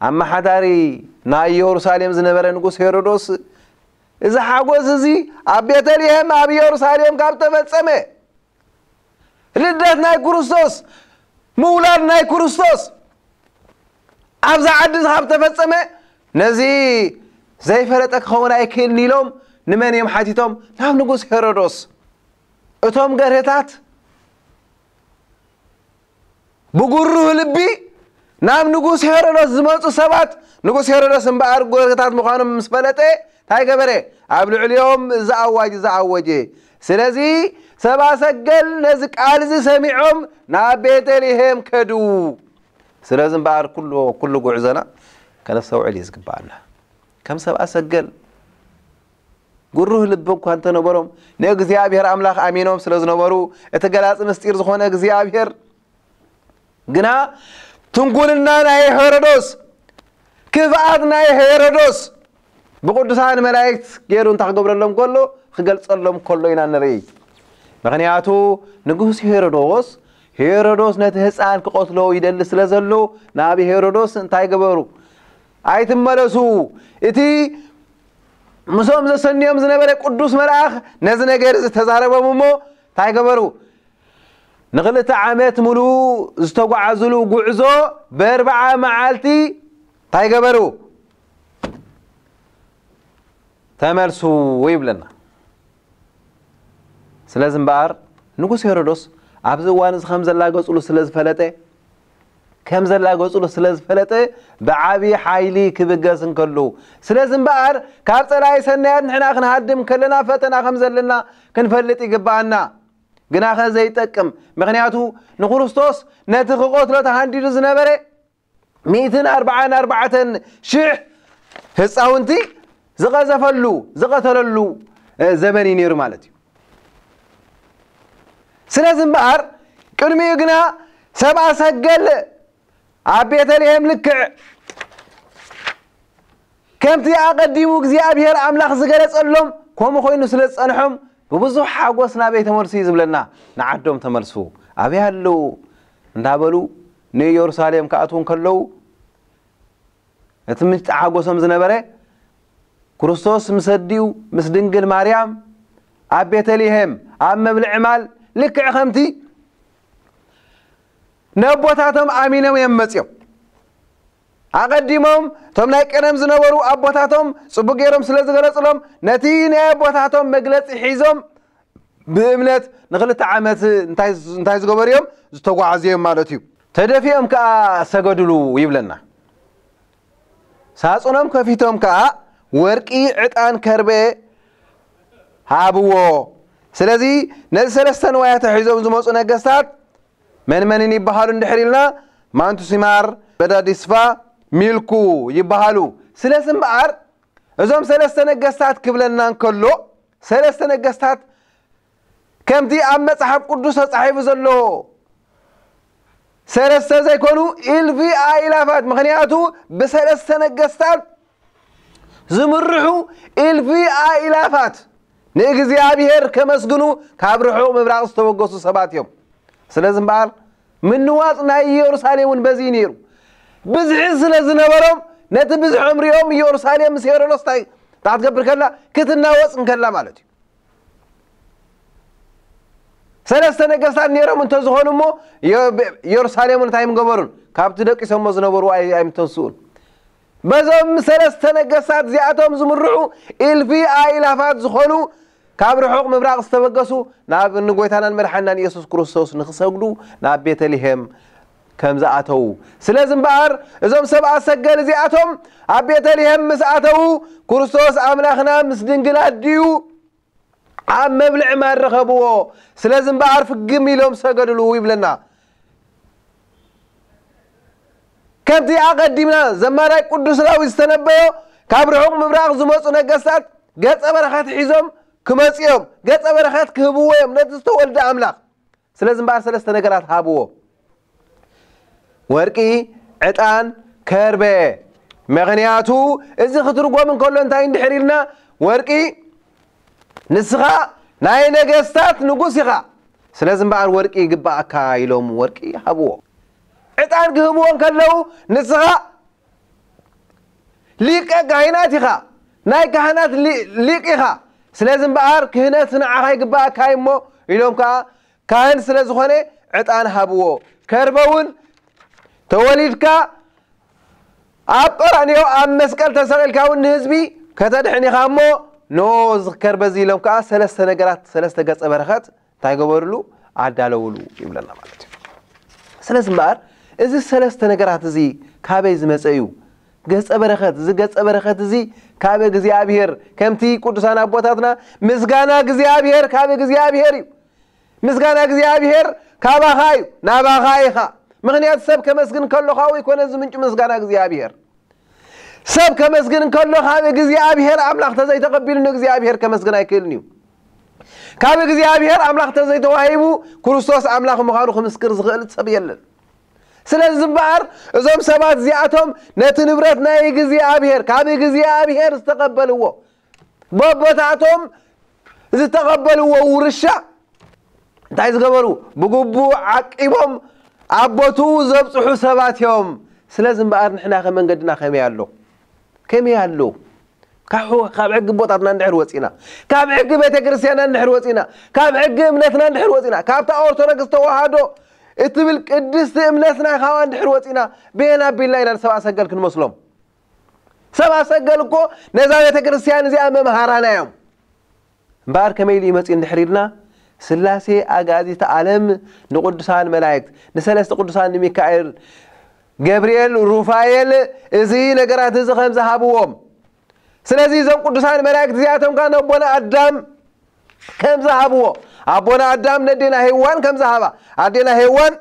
ኣመሓዳሪ ናይ ኢየሩሳሌም ዝነበረ ንጉስ ሄሮዶስ፣ እዚ ሓጎስ እዚ ኣብ ቤተልሔም ኣብ ኢየሩሳሌም ካብ ተፈጸመ፣ ልደት ናይ ክርስቶስ፣ ምውላድ ናይ ክርስቶስ ኣብዛ ዓዲ ካብ ተፈጸመ፣ ነዚ ዘይፈለጠ ክኸውን ኣይክእልን ኢሎም ንመን እዮም ሓቲቶም? ናብ ንጉስ ሄሮዶስ። እቶም ገርህታት ብጉሩህ ልቢ ናብ ንጉስ ሄሮዶስ ዝመጹ ሰባት፣ ንጉስ ሄሮዶስ እምበኣር ገርህታት ምዃኖም ምስ ፈለጠ፣ እንታይ ገበረ? ኣብ ልዕሊኦም እዚ ኣዋጅ እዚ ኣወጀ። ስለዚ ሰብኣ ሰገል ነዚ ቃል እዚ ሰሚዖም ናብ ቤተልሔም ከዱ። ስለዚ እምበኣር ኩሉ፣ ኩሉ ጉዕዞና ከነስተውዕል እዩ ዝግብኣና። ከም ሰብኣ ሰገል ግሩህ ልቢ እኳ እንተነበሮም፣ ንእግዚኣብሔር ኣምላኽ ኣሚኖም ስለ ዝነበሩ፣ እቲ ገላጺ ምስጢር ዝኾነ እግዚኣብሔር ግና ትንኩልና ናይ ሄሮዶስ፣ ክፍኣት ናይ ሄሮዶስ ብቅዱሳን መላእክት ገይሩ እንታይ ክገብረሎም ከሎ፣ ክገልጸሎም ከሎ ኢና ንርኢ። ምኽንያቱ ንጉስ ሄሮዶስ፣ ሄሮዶስ ነቲ ህፃን ክቐትሎ ይደሊ ስለ ዘሎ፣ ናብ ሄሮዶስ እንታይ ገበሩ? ኣይትመለሱ። እቲ ምስኦም ዘሰንዮም ዝነበረ ቅዱስ መልኣኽ ነዚ ነገር እዚ ተዛረቦም እሞ እንታይ ገበሩ? ንኽልተ ዓመት ሙሉእ ዝተጓዓዙሉ ጉዕዞ ብኣርብዓ መዓልቲ እንታይ ገበሩ? ተመልሱ ይብለና። ስለዚ እምበኣር ንጉስ ሄሮዶስ ኣብዚ እዋን እዚ ከም ዘላገጹሉ ስለ ዝፈለጠ፣ ከም ዘላገጹሉ ስለ ዝፈለጠ ብዓቢ ሓይሊ ክብገስ እንከሉ፣ ስለዚ እምበኣር ካብ ጸላኢ ሰናያት ንሕና ክንሃድም ከለና ፈተና ከም ዘለና ክንፈልጥ ይግብኣና። ግናኸ ዘይጠቅም፣ ምኽንያቱ ንክርስቶስ ነቲ ክቐትሎ ተሃንዲዱ ዝነበረ ሚእትን ኣርብዓን ኣርባዕተን ሽሕ ህፃውንቲ ዝቐዘፈሉ፣ ዝቐተለሉ፣ እ፣ ዘመን እዩ ነይሩ ማለት እዩ። ስለዚ እምበኣር ቅድሚኡ ግና ሰብኣ ሰገል ኣብ ቤተልሔም ልክዕ ከምቲ ኣቐዲሙ እግዚኣብሔር ኣምላኽ ዝገለጸሎም ከምኡ ኮይኑ ስለ ዝጸንሖም ብብዙሕ ሓጎስ ናበይ ተመልሱ እዩ ዝብለና። ንዓዶም ተመልሱ። ኣበይ ኣለዉ? እንዳበሉ ንኢየሩሳሌም ክኣትዉ እንከለዉ፣ እቲ ምንጪ ሓጎሶም ዝነበረ ክርስቶስ ምስ ኣዲኡ ምስ ድንግል ማርያም ኣብ ቤተልሔም ኣብ መብልዒ ማል ልክዕ ከምቲ ነቦታቶም ኣሚኖም እዮም መጺኦም። ኣቐዲሞም እቶም ናይ ቀደም ዝነበሩ ኣቦታቶም ጽቡቕ ገይሮም ስለ ዝገለጹሎም፣ ነቲ ናይ ኣቦታቶም መግለጺ ሒዞም ብእምነት ንኽልተ ዓመት እንታይ፣ እንታይ ዝገበሩ እዮም? ዝተጓዓዙ እዮም ማለት እዩ። ተደፊኦም ከኣ ሰገዱሉ ይብለና። ሳጹኖም ከፊቶም ከኣ ወርቂ፣ ዕጣን፣ ከርቤ ሃብዎ። ስለዚ ነዚ ሰለስተ ንዋያተ ሒዞም ዝመጹ ነገስታት መን መንን ይበሃሉ እንድሕር ኢልና፣ ማንቱሲማር፣ በዳዲስፋ፣ ሚልኩ ይበሃሉ። ስለዚ እምበኣር እዞም ሰለስተ ነገስታት ክብለና እንከሎ፣ ሰለስተ ነገስታት ከምቲ ኣብ መጽሓፍ ቅዱስ ተጻሒፉ ዘሎ ሰለስተ ዘይኮኑ ኢልፊ ኣኢላፋት፣ ምኽንያቱ ብሰለስተ ነገስታት ዝምርሑ ኢልፊ ኣኢላፋት ንእግዚኣብሔር ከመስግኑ ካብ ርሑቕ ምብራቕ ዝተበገሱ ሰባት እዮም። ስለዚ እምበኣር ምንዋጽ ናይ ኢየሩሳሌም እውን በዚ እዩ ነይሩ። ብዝሒ ስለ ዝነበሮም ነቲ ብዝሖም ሪኦም ኢየሩሳሌም ምስ ሄሮዶስ እንታይ እንታይ ክትገብር ከላ? ክትናወጽ እንከላ ማለት እዩ። ሰለስተ ነገስታት ነይሮም እንተዝኾኑ እሞ፣ የ-፣ ኢየሩሳሌም እንታይ ምገበሩን? ካብቲ ደቂሶሞ ዝነበሩ ኣይ-፣ ኣይምተንስኡን። በዞም ሰለስተ ነገስታት እዚኣቶም ዝምርዑ፣ እልፊ ኣእላፋት ዝኾኑ፣ ካብ ርሑቕ ምብራቕ ዝተበገሱ፣ ናብ ንጎይታናን መድሓናን ኢየሱስ ክርስቶስ ንኽሰግዱ ናብ ቤተልሔም ከም ዝኣተዉ። ስለዚ እምበኣር፣ እዞም ሰብኣ ሰገል እዚኣቶም ኣብ ቤተልሔም ምስ ኣተዉ፣ ክርስቶስ ኣምላኽና ምስ ድንግል ኣዲኡ ኣብ መብልዒ ማድ ረኸብዎ። ስለዚ እምበኣር ፍግም ኢሎም ሰገድሉ ይብለና። ከምቲ ኣቐዲምና ዘማራይ ቅዱስ ዳዊት ዝተነበዮ፣ ካብ ርሑቕ ምብራቕ ዝመጹ ነገስታት ገጸ በረኸት ሒዞም ክመጹ እዮም። ገጸ በረኸት ክህብዎ እዮም ነቲ ዝተወልደ ኣምላኽ። ስለዚ እምበኣር ሰለስተ ነገራት ሃብዎ። ወርቂ፣ ዕጣን፣ ከርበ። ምኽንያቱ እዚ ክትርጎም እንከሎ እንታይ እንድሕር ኢልና፣ ወርቂ ንስኻ ናይ ነገስታት ንጉስ ኢኻ። ስለዚ እምበኣር ወርቂ ይግባኣካ ኢሎም ወርቂ ሃብዎ። ዕጣን ክህብዎ እንከለዉ ንስኻ ሊቀ ካህናት ኢኻ፣ ናይ ካህናት ሊ-፣ ሊቅ ኢኻ። ስለዚ እምበኣር ክህነት ንዓኻ ይግባኣካ እዩ እሞ ኢሎም ከኣ ካህን ስለ ዝኾነ ዕጣን ሃብዎ። ከርበ እውን ተወሊድካ ኣብ ቀራንዮ ኣብ መስቀል ተሰቒልካ እውን ንህዝቢ ከተድሕን ኢኻ እሞ ኖ እዚ ከርበ እዚ ኢሎም ከኣ ሰለስተ ነገራት፣ ሰለስተ ገጸ በረኸት እንታይ ገበርሉ? ኣዳለውሉ ይብለና ማለት እዩ። ስለዚ እምበኣር እዚ ሰለስተ ነገራት እዚ ካበይ ዝመጸ እዩ? ገጸ በረኸት፣ እዚ ገጸ በረኸት እዚ ካብ እግዚኣብሔር፣ ከምቲ ቅዱሳን ኣቦታትና ምስጋና እግዚኣብሔር ካብ እግዚኣብሔር እዩ። ምስጋና እግዚኣብሔር ካባኻ እዩ፣ ናባኻ ኢኻ። ምኽንያቱ ሰብ ከመስግን ከሎ ካብኡ ኣይኮነን ዝምንጩ ምስጋና እግዚኣብሔር። ሰብ ከመስግን እንከሎ ካብ እግዚኣብሔር ኣምላኽ ተዘይተቐቢሉ ንእግዚኣብሔር ከመስግን ኣይክእልን እዩ። ካብ እግዚኣብሔር ኣምላኽ ተዘይተዋሂቡ ክርስቶስ ኣምላኽ ምዃኑ ክምስክር ዝኽእል ሰብ የለን። ስለዚ እምበኣር እዞም ሰባት እዚኣቶም ነቲ ንብረት ናይ እግዚኣብሔር፣ ካብ እግዚኣብሔር ዝተቐበልዎ፣ በቦታቶም ዝተቐበልዎ ውርሻ እንታይ ዝገበሩ? ብግቡእ ዓቂቦም ኣብ ቦትኡ ዘብጽሑ ሰባት እዮም። ስለዚ እምበኣር ንሕናኸ መንገድና ከመይ ኣሎ? ከመይ ኣሎ? ካብ፣ ካብ ሕጊ ኣቦታትና እንድሕር ወጺና፣ ካብ ሕጊ ቤተ ክርስቲያንና እንድሕር ወጺና፣ ካብ ሕጊ እምነትና እንድሕር ወጺና፣ ካብታ ኦርቶዶክስ ተዋህዶ እትብል ቅድስቲ እምነትና ካብኣ እንድሕር ወጺና፣ በየን ኣቢልና ኢና ንሰብኣ ሰገል ክንመስሎም? ሰብኣ ሰገል እኮ ነዛ ቤተ ክርስቲያን እዚኣ መምሃራና እዮም። እምበኣር ከመይ ኢሉ ይመጽእ እንድሕር ኢልና፣ ስላሴ ኣጋዚተ ዓለም ንቅዱሳን መላእክት፣ ንሰለስተ ቅዱሳን፣ ንሚካኤል፣ ገብርኤል፣ ሩፋኤል፣ እዚ ነገራት እዚ ከም ዝሃብዎም። ስለዚ እዞም ቅዱሳን መላእክት እዚኣቶም ከኣ ነቦና ኣዳም ከም ዝሃብዎ፣ ኣቦና ኣዳም ነዴና ሄዋን ከም ዝሃባ፣ ኣዴና ሄዋን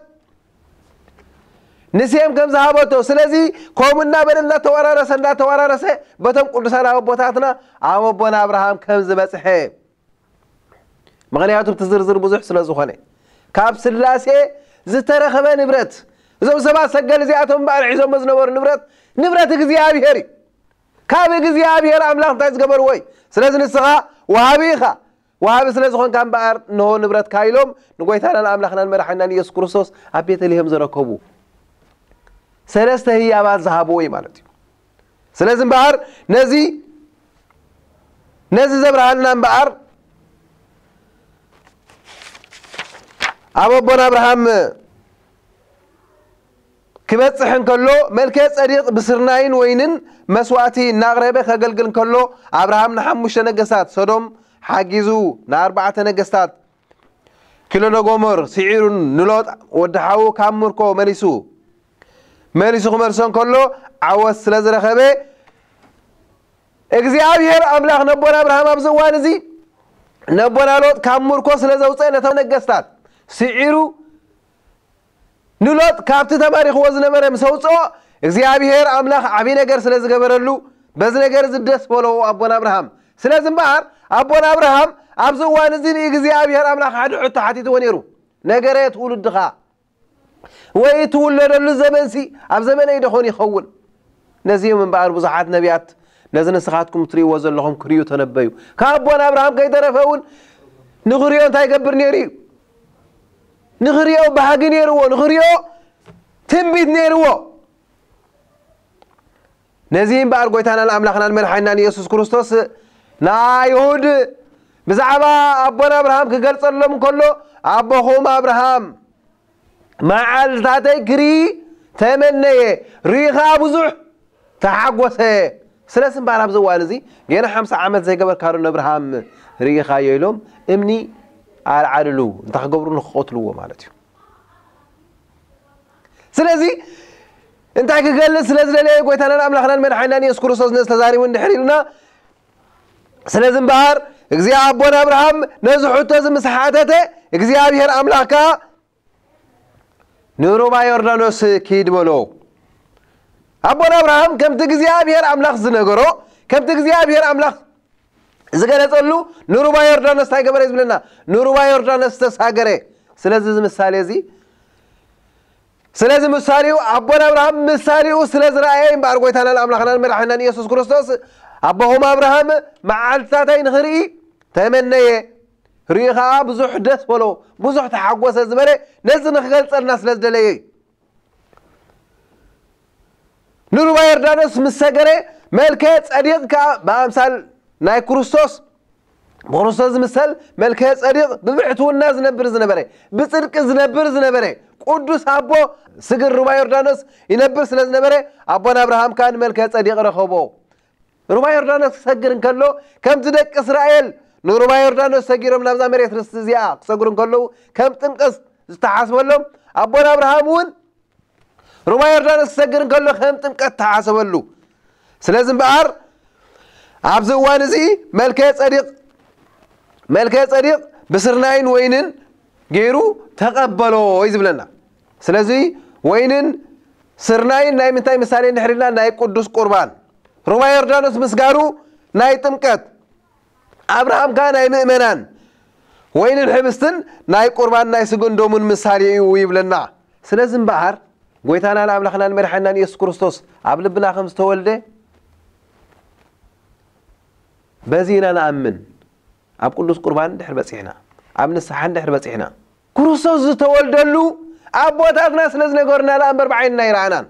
ንሴም ከም ዝሃበቶ፣ ስለዚ ከምኡ እናበለ እናተወራረሰ፣ እናተወራረሰ በቶም ቅዱሳን ኣቦታትና ኣብ ኣቦና ኣብርሃም ከም ዝበጽሐ። ምኽንያቱ እቲ ዝርዝር ብዙሕ ስለ ዝኾነ፣ ካብ ስላሴ ዝተረኸበ ንብረት፣ እዞም ሰባት ሰገል እዚኣቶም እምበኣር ሒዞሞ ዝነበሩ ንብረት፣ ንብረት እግዚኣብሔር እዩ። ካብ እግዚኣብሔር ኣምላኽ እንታይ ዝገበርዎ እዩ? ስለዚ ንስኻ ወሃቢ ኢኻ። ወሃቢ ስለ ዝኾንካ እምበኣር፣ እንሆ ንብረትካ ኢሎም ንጎይታናን ኣምላኽናን መድሓኒናን ኢየሱስ ክርስቶስ ኣብ ቤተልሔም ዘረከቡ ሰለስተ ህያባት ዝሃብዎ እዩ ማለት እዩ። ስለዚ እምበኣር፣ ነዚ፣ ነዚ ዘብርሃልና እምበኣር፣ ኣብ ኣቦና ኣብርሃም ክበጽሕ እንከሎ፣ መልከ ጸዲቕ ብስርናይን ወይንን መስዋእቲ እናቕረበ ከገልግል እንከሎ፣ ኣብርሃም ንሓሙሽተ ነገስታት ሶዶም ሓጊዙ፣ ንኣርባዕተ ነገስታት ኪሎዶጎሞር ስዒሩ፣ ንሎጥ ወዲ ሓዉ ካብ ምርኮ መሊሱ፣ መሊሱ ክመልሶ እንከሎ፣ ዓወት ስለ ዝረኸበ፣ እግዚኣብሔር ኣምላኽ ነቦና ኣብርሃም ኣብዚ እዋን እዚ ነቦና ሎጥ ካብ ምርኮ ስለ ዘውፅአ፣ ነቶም ነገስታት ስዒሩ ንሎጥ ካብቲ ተማሪኽዎ ዝነበረ ምስ ኣውፅኦ፣ እግዚኣብሔር ኣምላኽ ዓብዪ ነገር ስለ ዝገበረሉ፣ በዚ ነገር እዚ ደስ በሎ ኣቦና ኣብርሃም። ስለዚ እምበኣር ኣቦና ኣብርሃም ኣብዚ እዋን እዚ ንእግዚኣብሔር ኣምላኽ ሓደ ሕቶ ሓቲትዎ ነይሩ። ነገረ ትውልድኻ ወይ ትውለደሉ ዘመንሲ ኣብ ዘመነይ ዶ ኾን ይኸውን? ነዚ እዮም እምበኣር ብዙሓት ነቢያት ነዚ ንስኻትኩም ትርእይዎ ዘለኹም ክርእዩ ተነበዩ። ካብ ኣቦና ኣብርሃም ከይተረፈ እውን ንኽርእዮ እንታይ ይገብር ነይሩ እዩ? ንኽርእዮ ባህጊ ነይርዎ፣ ንኽርእዮ ትንቢት ነይርዎ። ነዚ እምበኣር ጎይታናን ኣምላኽናን መድሓኒናን ኢየሱስ ክርስቶስ ንኣይሁድ ብዛዕባ ኣቦና ኣብርሃም ክገልጸሎም እንከሎ፣ ኣቦኹም ኣብርሃም መዓልታተይ ክርኢ ተመነየ፣ ርኢ ኸዓ ብዙሕ ተሓጎሰ። ስለዚ እምበኣር ኣብዚ እዋን እዚ ገና ሓምሳ ዓመት ዘይገበርካ ዶ ንኣብርሃም ርኢኻዮ ኢሎም እምኒ ኣልዓልሉ፣ እንታይ ክገብሩ ንክቐትልዎ ማለት እዩ። ስለዚ እንታይ ክገልጽ ስለ ዝደለየ ጎይታናን ኣምላኽናን መድሓኒናን የሱስ ክርስቶስ ነዚ ተዛሪቡ እንድሕር ኢልና፣ ስለዚ እምበኣር እግዚኣብሔር ኣቦና ኣብርሃም ነዚ ሕቶ እዚ ምስ ሓተተ እግዚኣብሔር ኣምላኽ ከኣ ንሩባ ዮርዳኖስ ኪድ በሎ። ኣቦና ኣብርሃም ከምቲ እግዚኣብሔር ኣምላኽ ዝነገሮ፣ ከምቲ እግዚኣብሔር ኣምላኽ ዝገለጸሉ ንሩባ ዮርዳኖስ እንታይ ገበረ እዩ ዝብለና? ንሩባ ዮርዳኖስ ተሳገረ። ስለዚ እዚ ምሳሌ እዚ ስለዚ ምሳሌኡ ኣቦና ኣብርሃም ምሳሌኡ ስለ ዝረኣየ እምበኣር ጎይታናን ኣምላኽናን መድሓኒናን ኢየሱስ ክርስቶስ ኣቦኹም ኣብርሃም መዓልትታተይ ንኽርኢ ተመነየ፣ ርእዩ ኸዓ ብዙሕ ደስ በሎ፣ ብዙሕ ተሓጎሰ ዝበለ ነዚ ንኽገልጸልና ስለ ዝደለየ እዩ። ንሩባ ዮርዳኖስ ምስ ሰገረ መልከ ጸዲቕ ከኣ ብኣምሳል ናይ ክርስቶስ ብክርስቶስ ዝምሰል መልከ ጸዲቕ ብብሕትውና ዝነብር ዝነበረ ብጽድቂ ዝነብር ዝነበረ ቅዱስ ኣቦ ስግር ሩባ ዮርዳኖስ ይነብር ስለ ዝነበረ ኣቦና ኣብርሃም ከኣ ንመልከ ጸዲቕ ረኸቦ። ሩባ ዮርዳኖስ ክሰግር እንከሎ ከምቲ ደቂ እስራኤል ንሩባ ዮርዳኖስ ሰጊሮም ናብዛ መሬት ርስቲ እዚኣ ክሰግሩ እንከለዉ ከም ጥምቀት ዝተሓስበሎም ኣቦና ኣብርሃም እውን ሩባ ዮርዳኖስ ክሰግር እንከሎ ከም ጥምቀት ተሓሰበሉ። ስለዚ እምበኣር ኣብዚ እዋን እዚ መልከ ጸዲቕ መልከ ጸዲቕ ብስርናይን ወይንን ገይሩ ተቐበሎ እዩ ዝብለና። ስለዚ ወይንን ስርናይን ናይ ምንታይ ምሳሌ እንድሕር ኢልና ናይ ቅዱስ ቁርባን ሩባ ዮርዳኖስ ምስጋሩ ናይ ጥምቀት ኣብርሃም ከኣ ናይ ምእመናን ወይንን ሕብስትን ናይ ቁርባን ናይ ስግኡን ደሙን ምሳሌ እዩ ይብለና። ስለዚ እምበኣር ጎይታናን ኣምላኽናን መድሓኒናን ኢየሱስ ክርስቶስ ኣብ ልብና ከም ዝተወልደ በዚ ኢና ንኣምን። ኣብ ቅዱስ ቁርባን እንድሕር በጺሕና፣ ኣብ ንስሓ እንድሕር በጺሕና፣ ክርስቶስ ዝተወልደሉ ኣቦታትና ስለ ዝነገሩና ደኣ እምበር ብዓይንና ኣይረኣናን።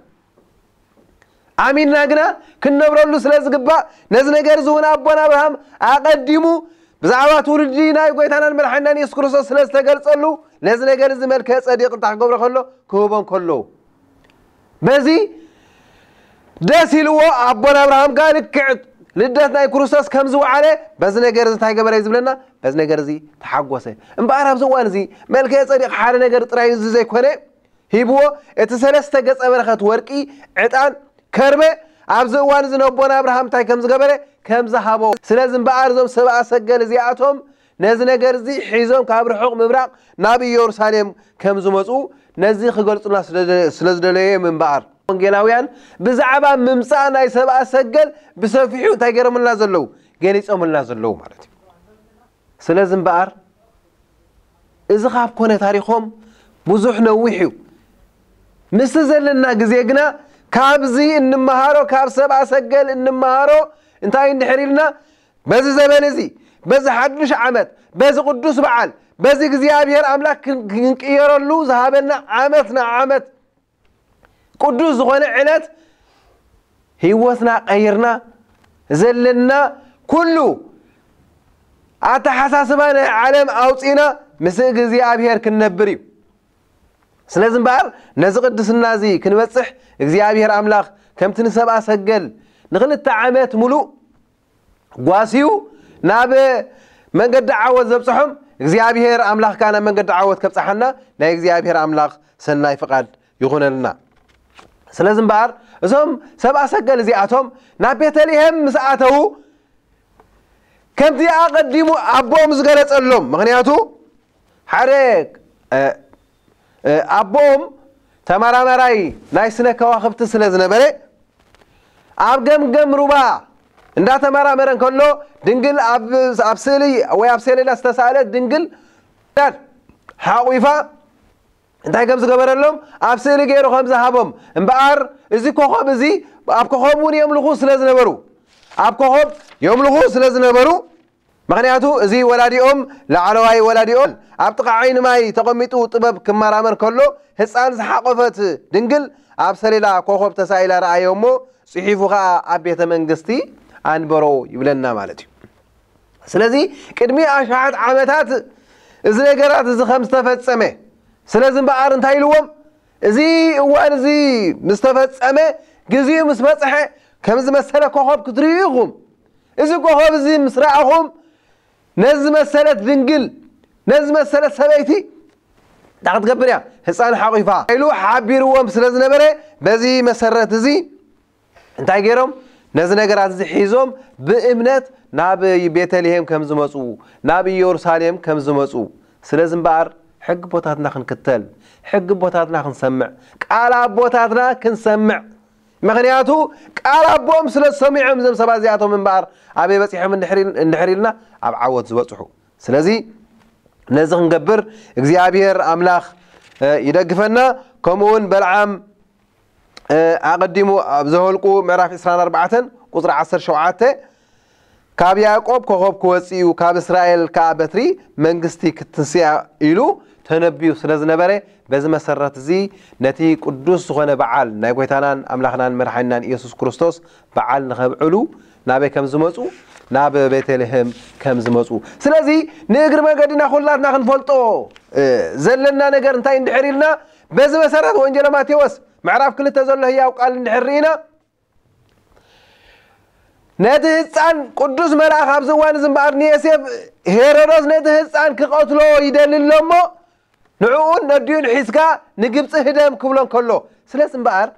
ኣሚንና ግና ክንነብረሉ ስለ ዝግባእ ነዚ ነገር እዚ እውን ኣቦና ኣብርሃም ኣቐዲሙ ብዛዕባ ትውልዲ ናይ ጎይታናን መድሓኒናን የሱስ ክርስቶስ ስለ ዝተገልጸሉ ነዚ ነገር እዚ መልከ ጸዲቕ እንታይ ክገብሮ ከሎ ክህቦ እንከሎ በዚ ደስ ኢልዎ ኣቦና ኣብርሃም ከኣ ልክዕ ልደት ናይ ክርስቶስ ከም ዝወዓለ በዚ ነገር እዚ እንታይ ገበረ እዩ ዝብለና? በዚ ነገር እዚ ተሓጎሰ። እምበኣር ኣብዚ እዋን እዚ መልከ ጸዲቕ ሓደ ነገር ጥራይ እዚ ዘይኮነ ሂብዎ እቲ ሰለስተ ገጸ በረኸት ወርቂ፣ ዕጣን፣ ከርበ ኣብዚ እዋን እዚ ነቦና ኣብርሃም እንታይ ከም ዝገበረ ከም ዝሃቦ። ስለዚ እምበኣር እዞም ሰብኣ ሰገል እዚኣቶም ነዚ ነገር እዚ ሒዞም ካብ ርሑቕ ምብራቕ ናብ ኢየሩሳሌም ከም ዝመጹ ነዚ ክገልጹና ስለ ዝደለየ እዮም እምበኣር። ወንጌላውያን ብዛዕባ ምምጻእ ናይ ሰብኣ ሰገል ብሰፊሑ እንታይ ገይሮምልና ዘለዉ? ገሊጾምልና ዘለዉ ማለት እዩ። ስለዚ እምበኣር እዚ ካብ ኮነ ታሪኾም ብዙሕ ነዊሕ እዩ። ምስቲ ዘለና ግዜ ግና ካብዚ እንመሃሮ፣ ካብ ሰብኣ ሰገል እንመሃሮ እንታይ እንድሕር ኢልና በዚ ዘበን እዚ በዚ ሓድሽ ዓመት በዚ ቅዱስ በዓል በዚ እግዚኣብሔር ኣምላኽ ክን- ክንቅየረሉ ዝሃበና ዓመት ንዓመት ቅዱስ ዝኾነ ዕለት ህይወትና ቀይርና ዘለና ኩሉ ኣተሓሳስባ ናይ ዓለም ኣውፂና ምስ እግዚኣብሔር ክንነብር እዩ። ስለዚ እምበኣር ነዚ ቅድስና እዚ ክንበፅሕ እግዚኣብሔር ኣምላኽ ከምቲ ንሰብኣ ሰገል ንክልተ ዓመት ሙሉእ ጓስዩ ናብ መንገዲ ዓወት ዘብፅሖም እግዚኣብሔር ኣምላኽ ከዓ ናብ መንገዲ ዓወት ከብፅሓና ናይ እግዚኣብሔር ኣምላኽ ሰናይ ፍቓድ ይኹነልና። ስለዚ እምበኣር እዞም ሰብኣ ሰገል እዚኣቶም ናብ ቤተልሔም ምስ ኣተዉ ከምቲ ኣቐዲሙ ኣቦኦም ዝገለጸሎም ምኽንያቱ ሓደ ኣቦኦም ተመራማራይ ናይ ስነ ከዋኽብቲ ስለ ዝነበረ ኣብ ገምገም ሩባ እንዳተመራመረ እንከሎ ድንግል ኣብ ስእሊ ወይ ኣብ ሰሌዳ ዝተሳእለት ድንግል ሓቑፋ እንታይ ከም ዝገበረሎም ኣብ ስእሊ ገይሩ ከም ዝሃቦም እምበኣር እዚ ኮኸብ እዚ ኣብ ኮኸብ እውን የምልኹ ስለ ዝነበሩ ኣብ ኮኸብ የምልኹ ስለ ዝነበሩ ምኽንያቱ እዚ ወላዲኦም ላዕለዋይ ወላዲኦም ኣብ ጥቓ ዓይኒ ማይ ተቐሚጡ ጥበብ ክመራመር ከሎ ህፃን ዝሓቆፈት ድንግል ኣብ ሰሌዳ ኮኸብ ተሳኢላ ረኣዮ እሞ ፅሒፉ ከዓ ኣብ ቤተ መንግስቲ ኣንበሮ ይብለና ማለት እዩ። ስለዚ ቅድሚ ኣሽሓት ዓመታት እዚ ነገራት እዚ ከም ዝተፈጸመ፣ ስለዚ እምበኣር እንታይ ኢልዎም? እዚ እዋን እዚ ምስ ተፈጸመ፣ ግዜኡ ምስ በጽሐ፣ ከም ዝመሰለ ኮኸብ ክትርእዩ ኢኹም። እዚ ኮኸብ እዚ ምስ ረኣኹም፣ ነዚ ዝመሰለት ድንግል፣ ነዚ ዝመሰለት ሰበይቲ እንታይ ክትገብር እያ? ህፃን ሓቑፋ ኢሉ ሓቢርዎም ስለ ዝነበረ፣ በዚ መሰረት እዚ እንታይ ገይሮም? ነዚ ነገራት እዚ ሒዞም ብእምነት ናብ ቤተልሔም ከም ዝመፁ፣ ናብ ኢየሩሳሌም ከም ዝመፁ። ስለዚ እምበኣር ሕጊ ቦታትና ክንክተል፣ ሕጊ ቦታትና ክንሰምዕ፣ ቃል ኣቦታትና ክንሰምዕ። ምኽንያቱ ቃል ኣቦኦም ስለ ዝሰሚዖም እዞም ሰባት እዚኣቶም እምበኣር ኣበይ በፂሖም እንድሕር ኢል-፣ እንድሕር ኢልና ኣብ ዓወት ዝበፅሑ። ስለዚ ነዚ ክንገብር እግዚኣብሔር ኣምላኽ፣ እ፣ ይደግፈና። ከምኡ እውን በልዓም፣ እ፣ ኣቐዲሙ ኣብ ዘኍልቁ ምዕራፍ ዕስራን ኣርባዕተን ቁጽሪ ዓሰርተ ሸውዓተ፣ ካብ ያዕቆብ ኮኸብ ክወጽእ እዩ፣ ካብ እስራኤል ከኣ በትሪ መንግስቲ ክትንስያ ኢሉ ተነብዩ ስለ ዝነበረ፣ በዚ መሰረት እዚ ነቲ ቅዱስ ዝኾነ በዓል ናይ ጐይታናን ኣምላኽናን መድሓኒናን ኢየሱስ ክርስቶስ በዓል ንኸብዕሉ ናበይ ከም ዝመጹ፣ ናብ ቤተልሔም ከም ዝመጹ። ስለዚ ንእግሪ መገድና ኩላትና ክንፈልጦ፣ እ፣ ዘለና ነገር እንታይ እንድሕር ኢልና፣ በዚ መሰረት ወንጌለ ማቴዎስ ምዕራፍ ክልተ ዘሎ ህያው ቃል እንድሕር ርኢና፣ ነቲ ህፃን ቅዱስ መልኣኽ ኣብዚ እዋን እዚ እምበኣር ንዮሴፍ፣ ሄሮዶስ ነቲ ህፃን ክቐትሎ ይደሊ ኣሎ እሞ፣ ንዕኡን ነዲኡን ሒዝካ ንግብፂ ህደም ክብሎ እንከሎ፣ ስለዚ እምበኣር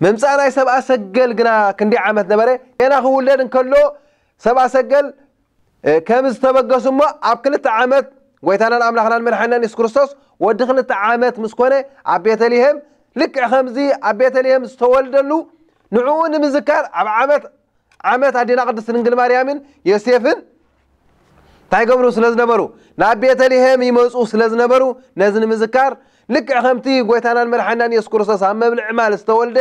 ምምፃእ ናይ ሰብኣ ሰገል ግና ክንደይ ዓመት ነበረ? ገና ክውለድ እንከሎ ሰብኣ ሰገል፣ እ፣ ከም ዝተበገሱ እሞ፣ ኣብ ክልተ ዓመት ጐይታናን ኣምላኽናን መድሓኒናን የሱስ ክርስቶስ ወዲ ክልተ ዓመት ምስ ኮነ፣ ኣብ ቤተልሔም፣ ልክዕ ከምዚ ኣብ ቤተልሔም ዝተወልደሉ፣ ንዕኡ ንምዝካር ኣብ ዓመት፣ ዓመት ኣዴና ቅድስት ድንግል ማርያምን ዮሴፍን እንታይ ገብሩ ስለ ዝነበሩ? ናብ ቤተልሔም ይመጹ ስለ ዝነበሩ፣ ነዚ ንምዝካር፣ ልክዕ ከምቲ ጐይታናን መድሓኒናን የሱስ ክርስቶስ ኣብ መብልዒ ማል ዝተወልደ፣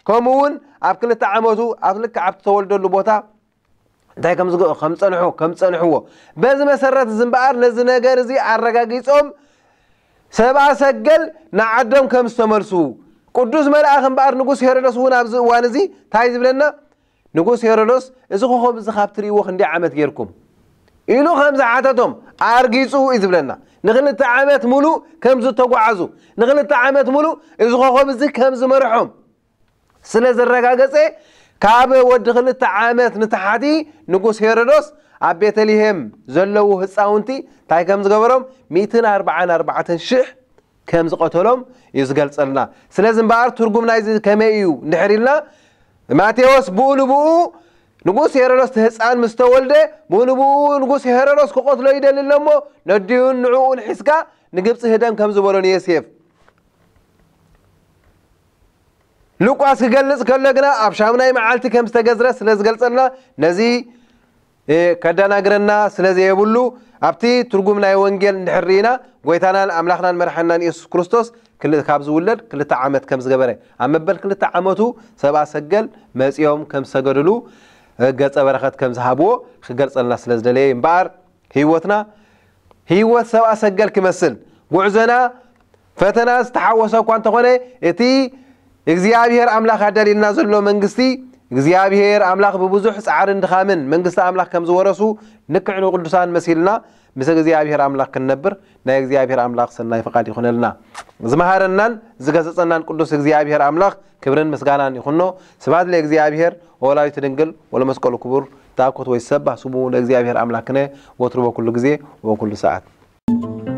ከምኡ እውን ኣብ ክልተ ዓመቱ ኣብ ልክዕ ኣብቲ ዝተወልደሉ ቦታ እንታይ ከም ዝገ-፣ ከም ጸንሑ-፣ ከም ጸንሕዎ። በዚ መሰረት እዚ እምበኣር ነዚ ነገር እዚ ኣረጋጊጾም ሰብኣ ሰገል ንዓዶም ከም ዝተመልሱ፣ ቅዱስ መልኣኽ እምበኣር ንጉስ ሄሮዶስ እውን ኣብዚ እዋን እዚ እንታይ ዝብለና? ንጉስ ሄሮዶስ፣ "እዚ ኮኸብ እዚ ካብ ትርእይዎ ክንደይ ዓመት ጌርኩም?" ኢሉ ከም ዝሓተቶም ኣርጊጹ እዩ ዝብለና። ንክልተ ዓመት ሙሉእ ከም ዝተጓዓዙ፣ ንክልተ ዓመት ሙሉእ እዚ ኮኸብ እዚ ከም ዝመርሖም ስለ ዘረጋገጸ፣ ካብ ወዲ ክልተ ዓመት ንታሕቲ ንጉስ ሄሮዶስ ኣብ ቤተልሔም ዘለዉ ህፃውንቲ እንታይ ከም ዝገበሮም፣ ሚእትን ኣርባዓን ኣርባዕተን ሽሕ ከም ዝቐተሎም እዩ ዝገልጸልና። ስለዚ እምበኣር ትርጉም ናይዚ ከመይ እዩ እንድሕር ኢልና፣ ማቴዎስ ብኡ ንብኡ ንጉስ ሄሮዶስ እቲ ህፃን ምስ ተወልደ፣ ብኡ ንብኡ ንጉስ ሄሮዶስ ክቐትሎ ይደሊ ኣሎ እሞ፣ ነዲኡን ንዕኡን ሒዝካ ንግብፂ ህደም ከም ዝበሎ ንዮሴፍ። ሉቃስ ክገልጽ ከሎ ግና ኣብ ሻሙናይ መዓልቲ ከም ዝተገዝረ ስለ ዝገልጸልና፣ ነዚ፣ እ፣ ከደናግረና ስለ ዘየብሉ፣ ኣብቲ ትርጉም ናይ ወንጌል እንድሕር ርኢና፣ ጐይታናን ኣምላኽናን መድሓኒናን የሱስ ክርስቶስ ክል-፣ ካብ ዝውለድ ክልተ ዓመት ከም ዝገበረ፣ ኣብ መበል ክልተ ዓመቱ ሰብኣ ሰገል መጺኦም ከም ዝሰገድሉ፣ እ፣ ገጸ በረኸት ከም ዝሃብዎ ክገልጸልና ስለ ዝደለየ እምበኣር፣ ህይወትና ህይወት ሰብኣ ሰገል ክመስል፣ ጉዕዞና ፈተና ዝተሓወሰ እኳ እንተኾነ፣ እቲ እግዚኣብሔር ኣምላኽ ኣዳልየልና ዘሎ መንግስቲ፣ እግዚኣብሔር ኣምላኽ ብብዙሕ ጻዕርን ድኻምን መንግስቲ ኣምላኽ ከም ዝወረሱ፣ ልክዕ ንቅዱሳን መሲልና ምስ እግዚኣብሔር ኣምላኽ ክንነብር ናይ እግዚኣብሔር ኣምላኽ ሰናይ ፍቓድ ይኹነልና። ዝመሃረናን ዝገሰጸናን ቅዱስ እግዚኣብሔር ኣምላኽ ክብርን ምስጋናን ይኹኖ። ስብሐት ለእግዚኣብሔር ወወላዲቱ ድንግል ወለመስቀሉ ክቡር። ታኮት ወይ ሰባህ ስሙ ለእግዚኣብሔር ኣምላክነ ወትሩ በኩሉ ግዜ ወበኩሉ ሰዓት።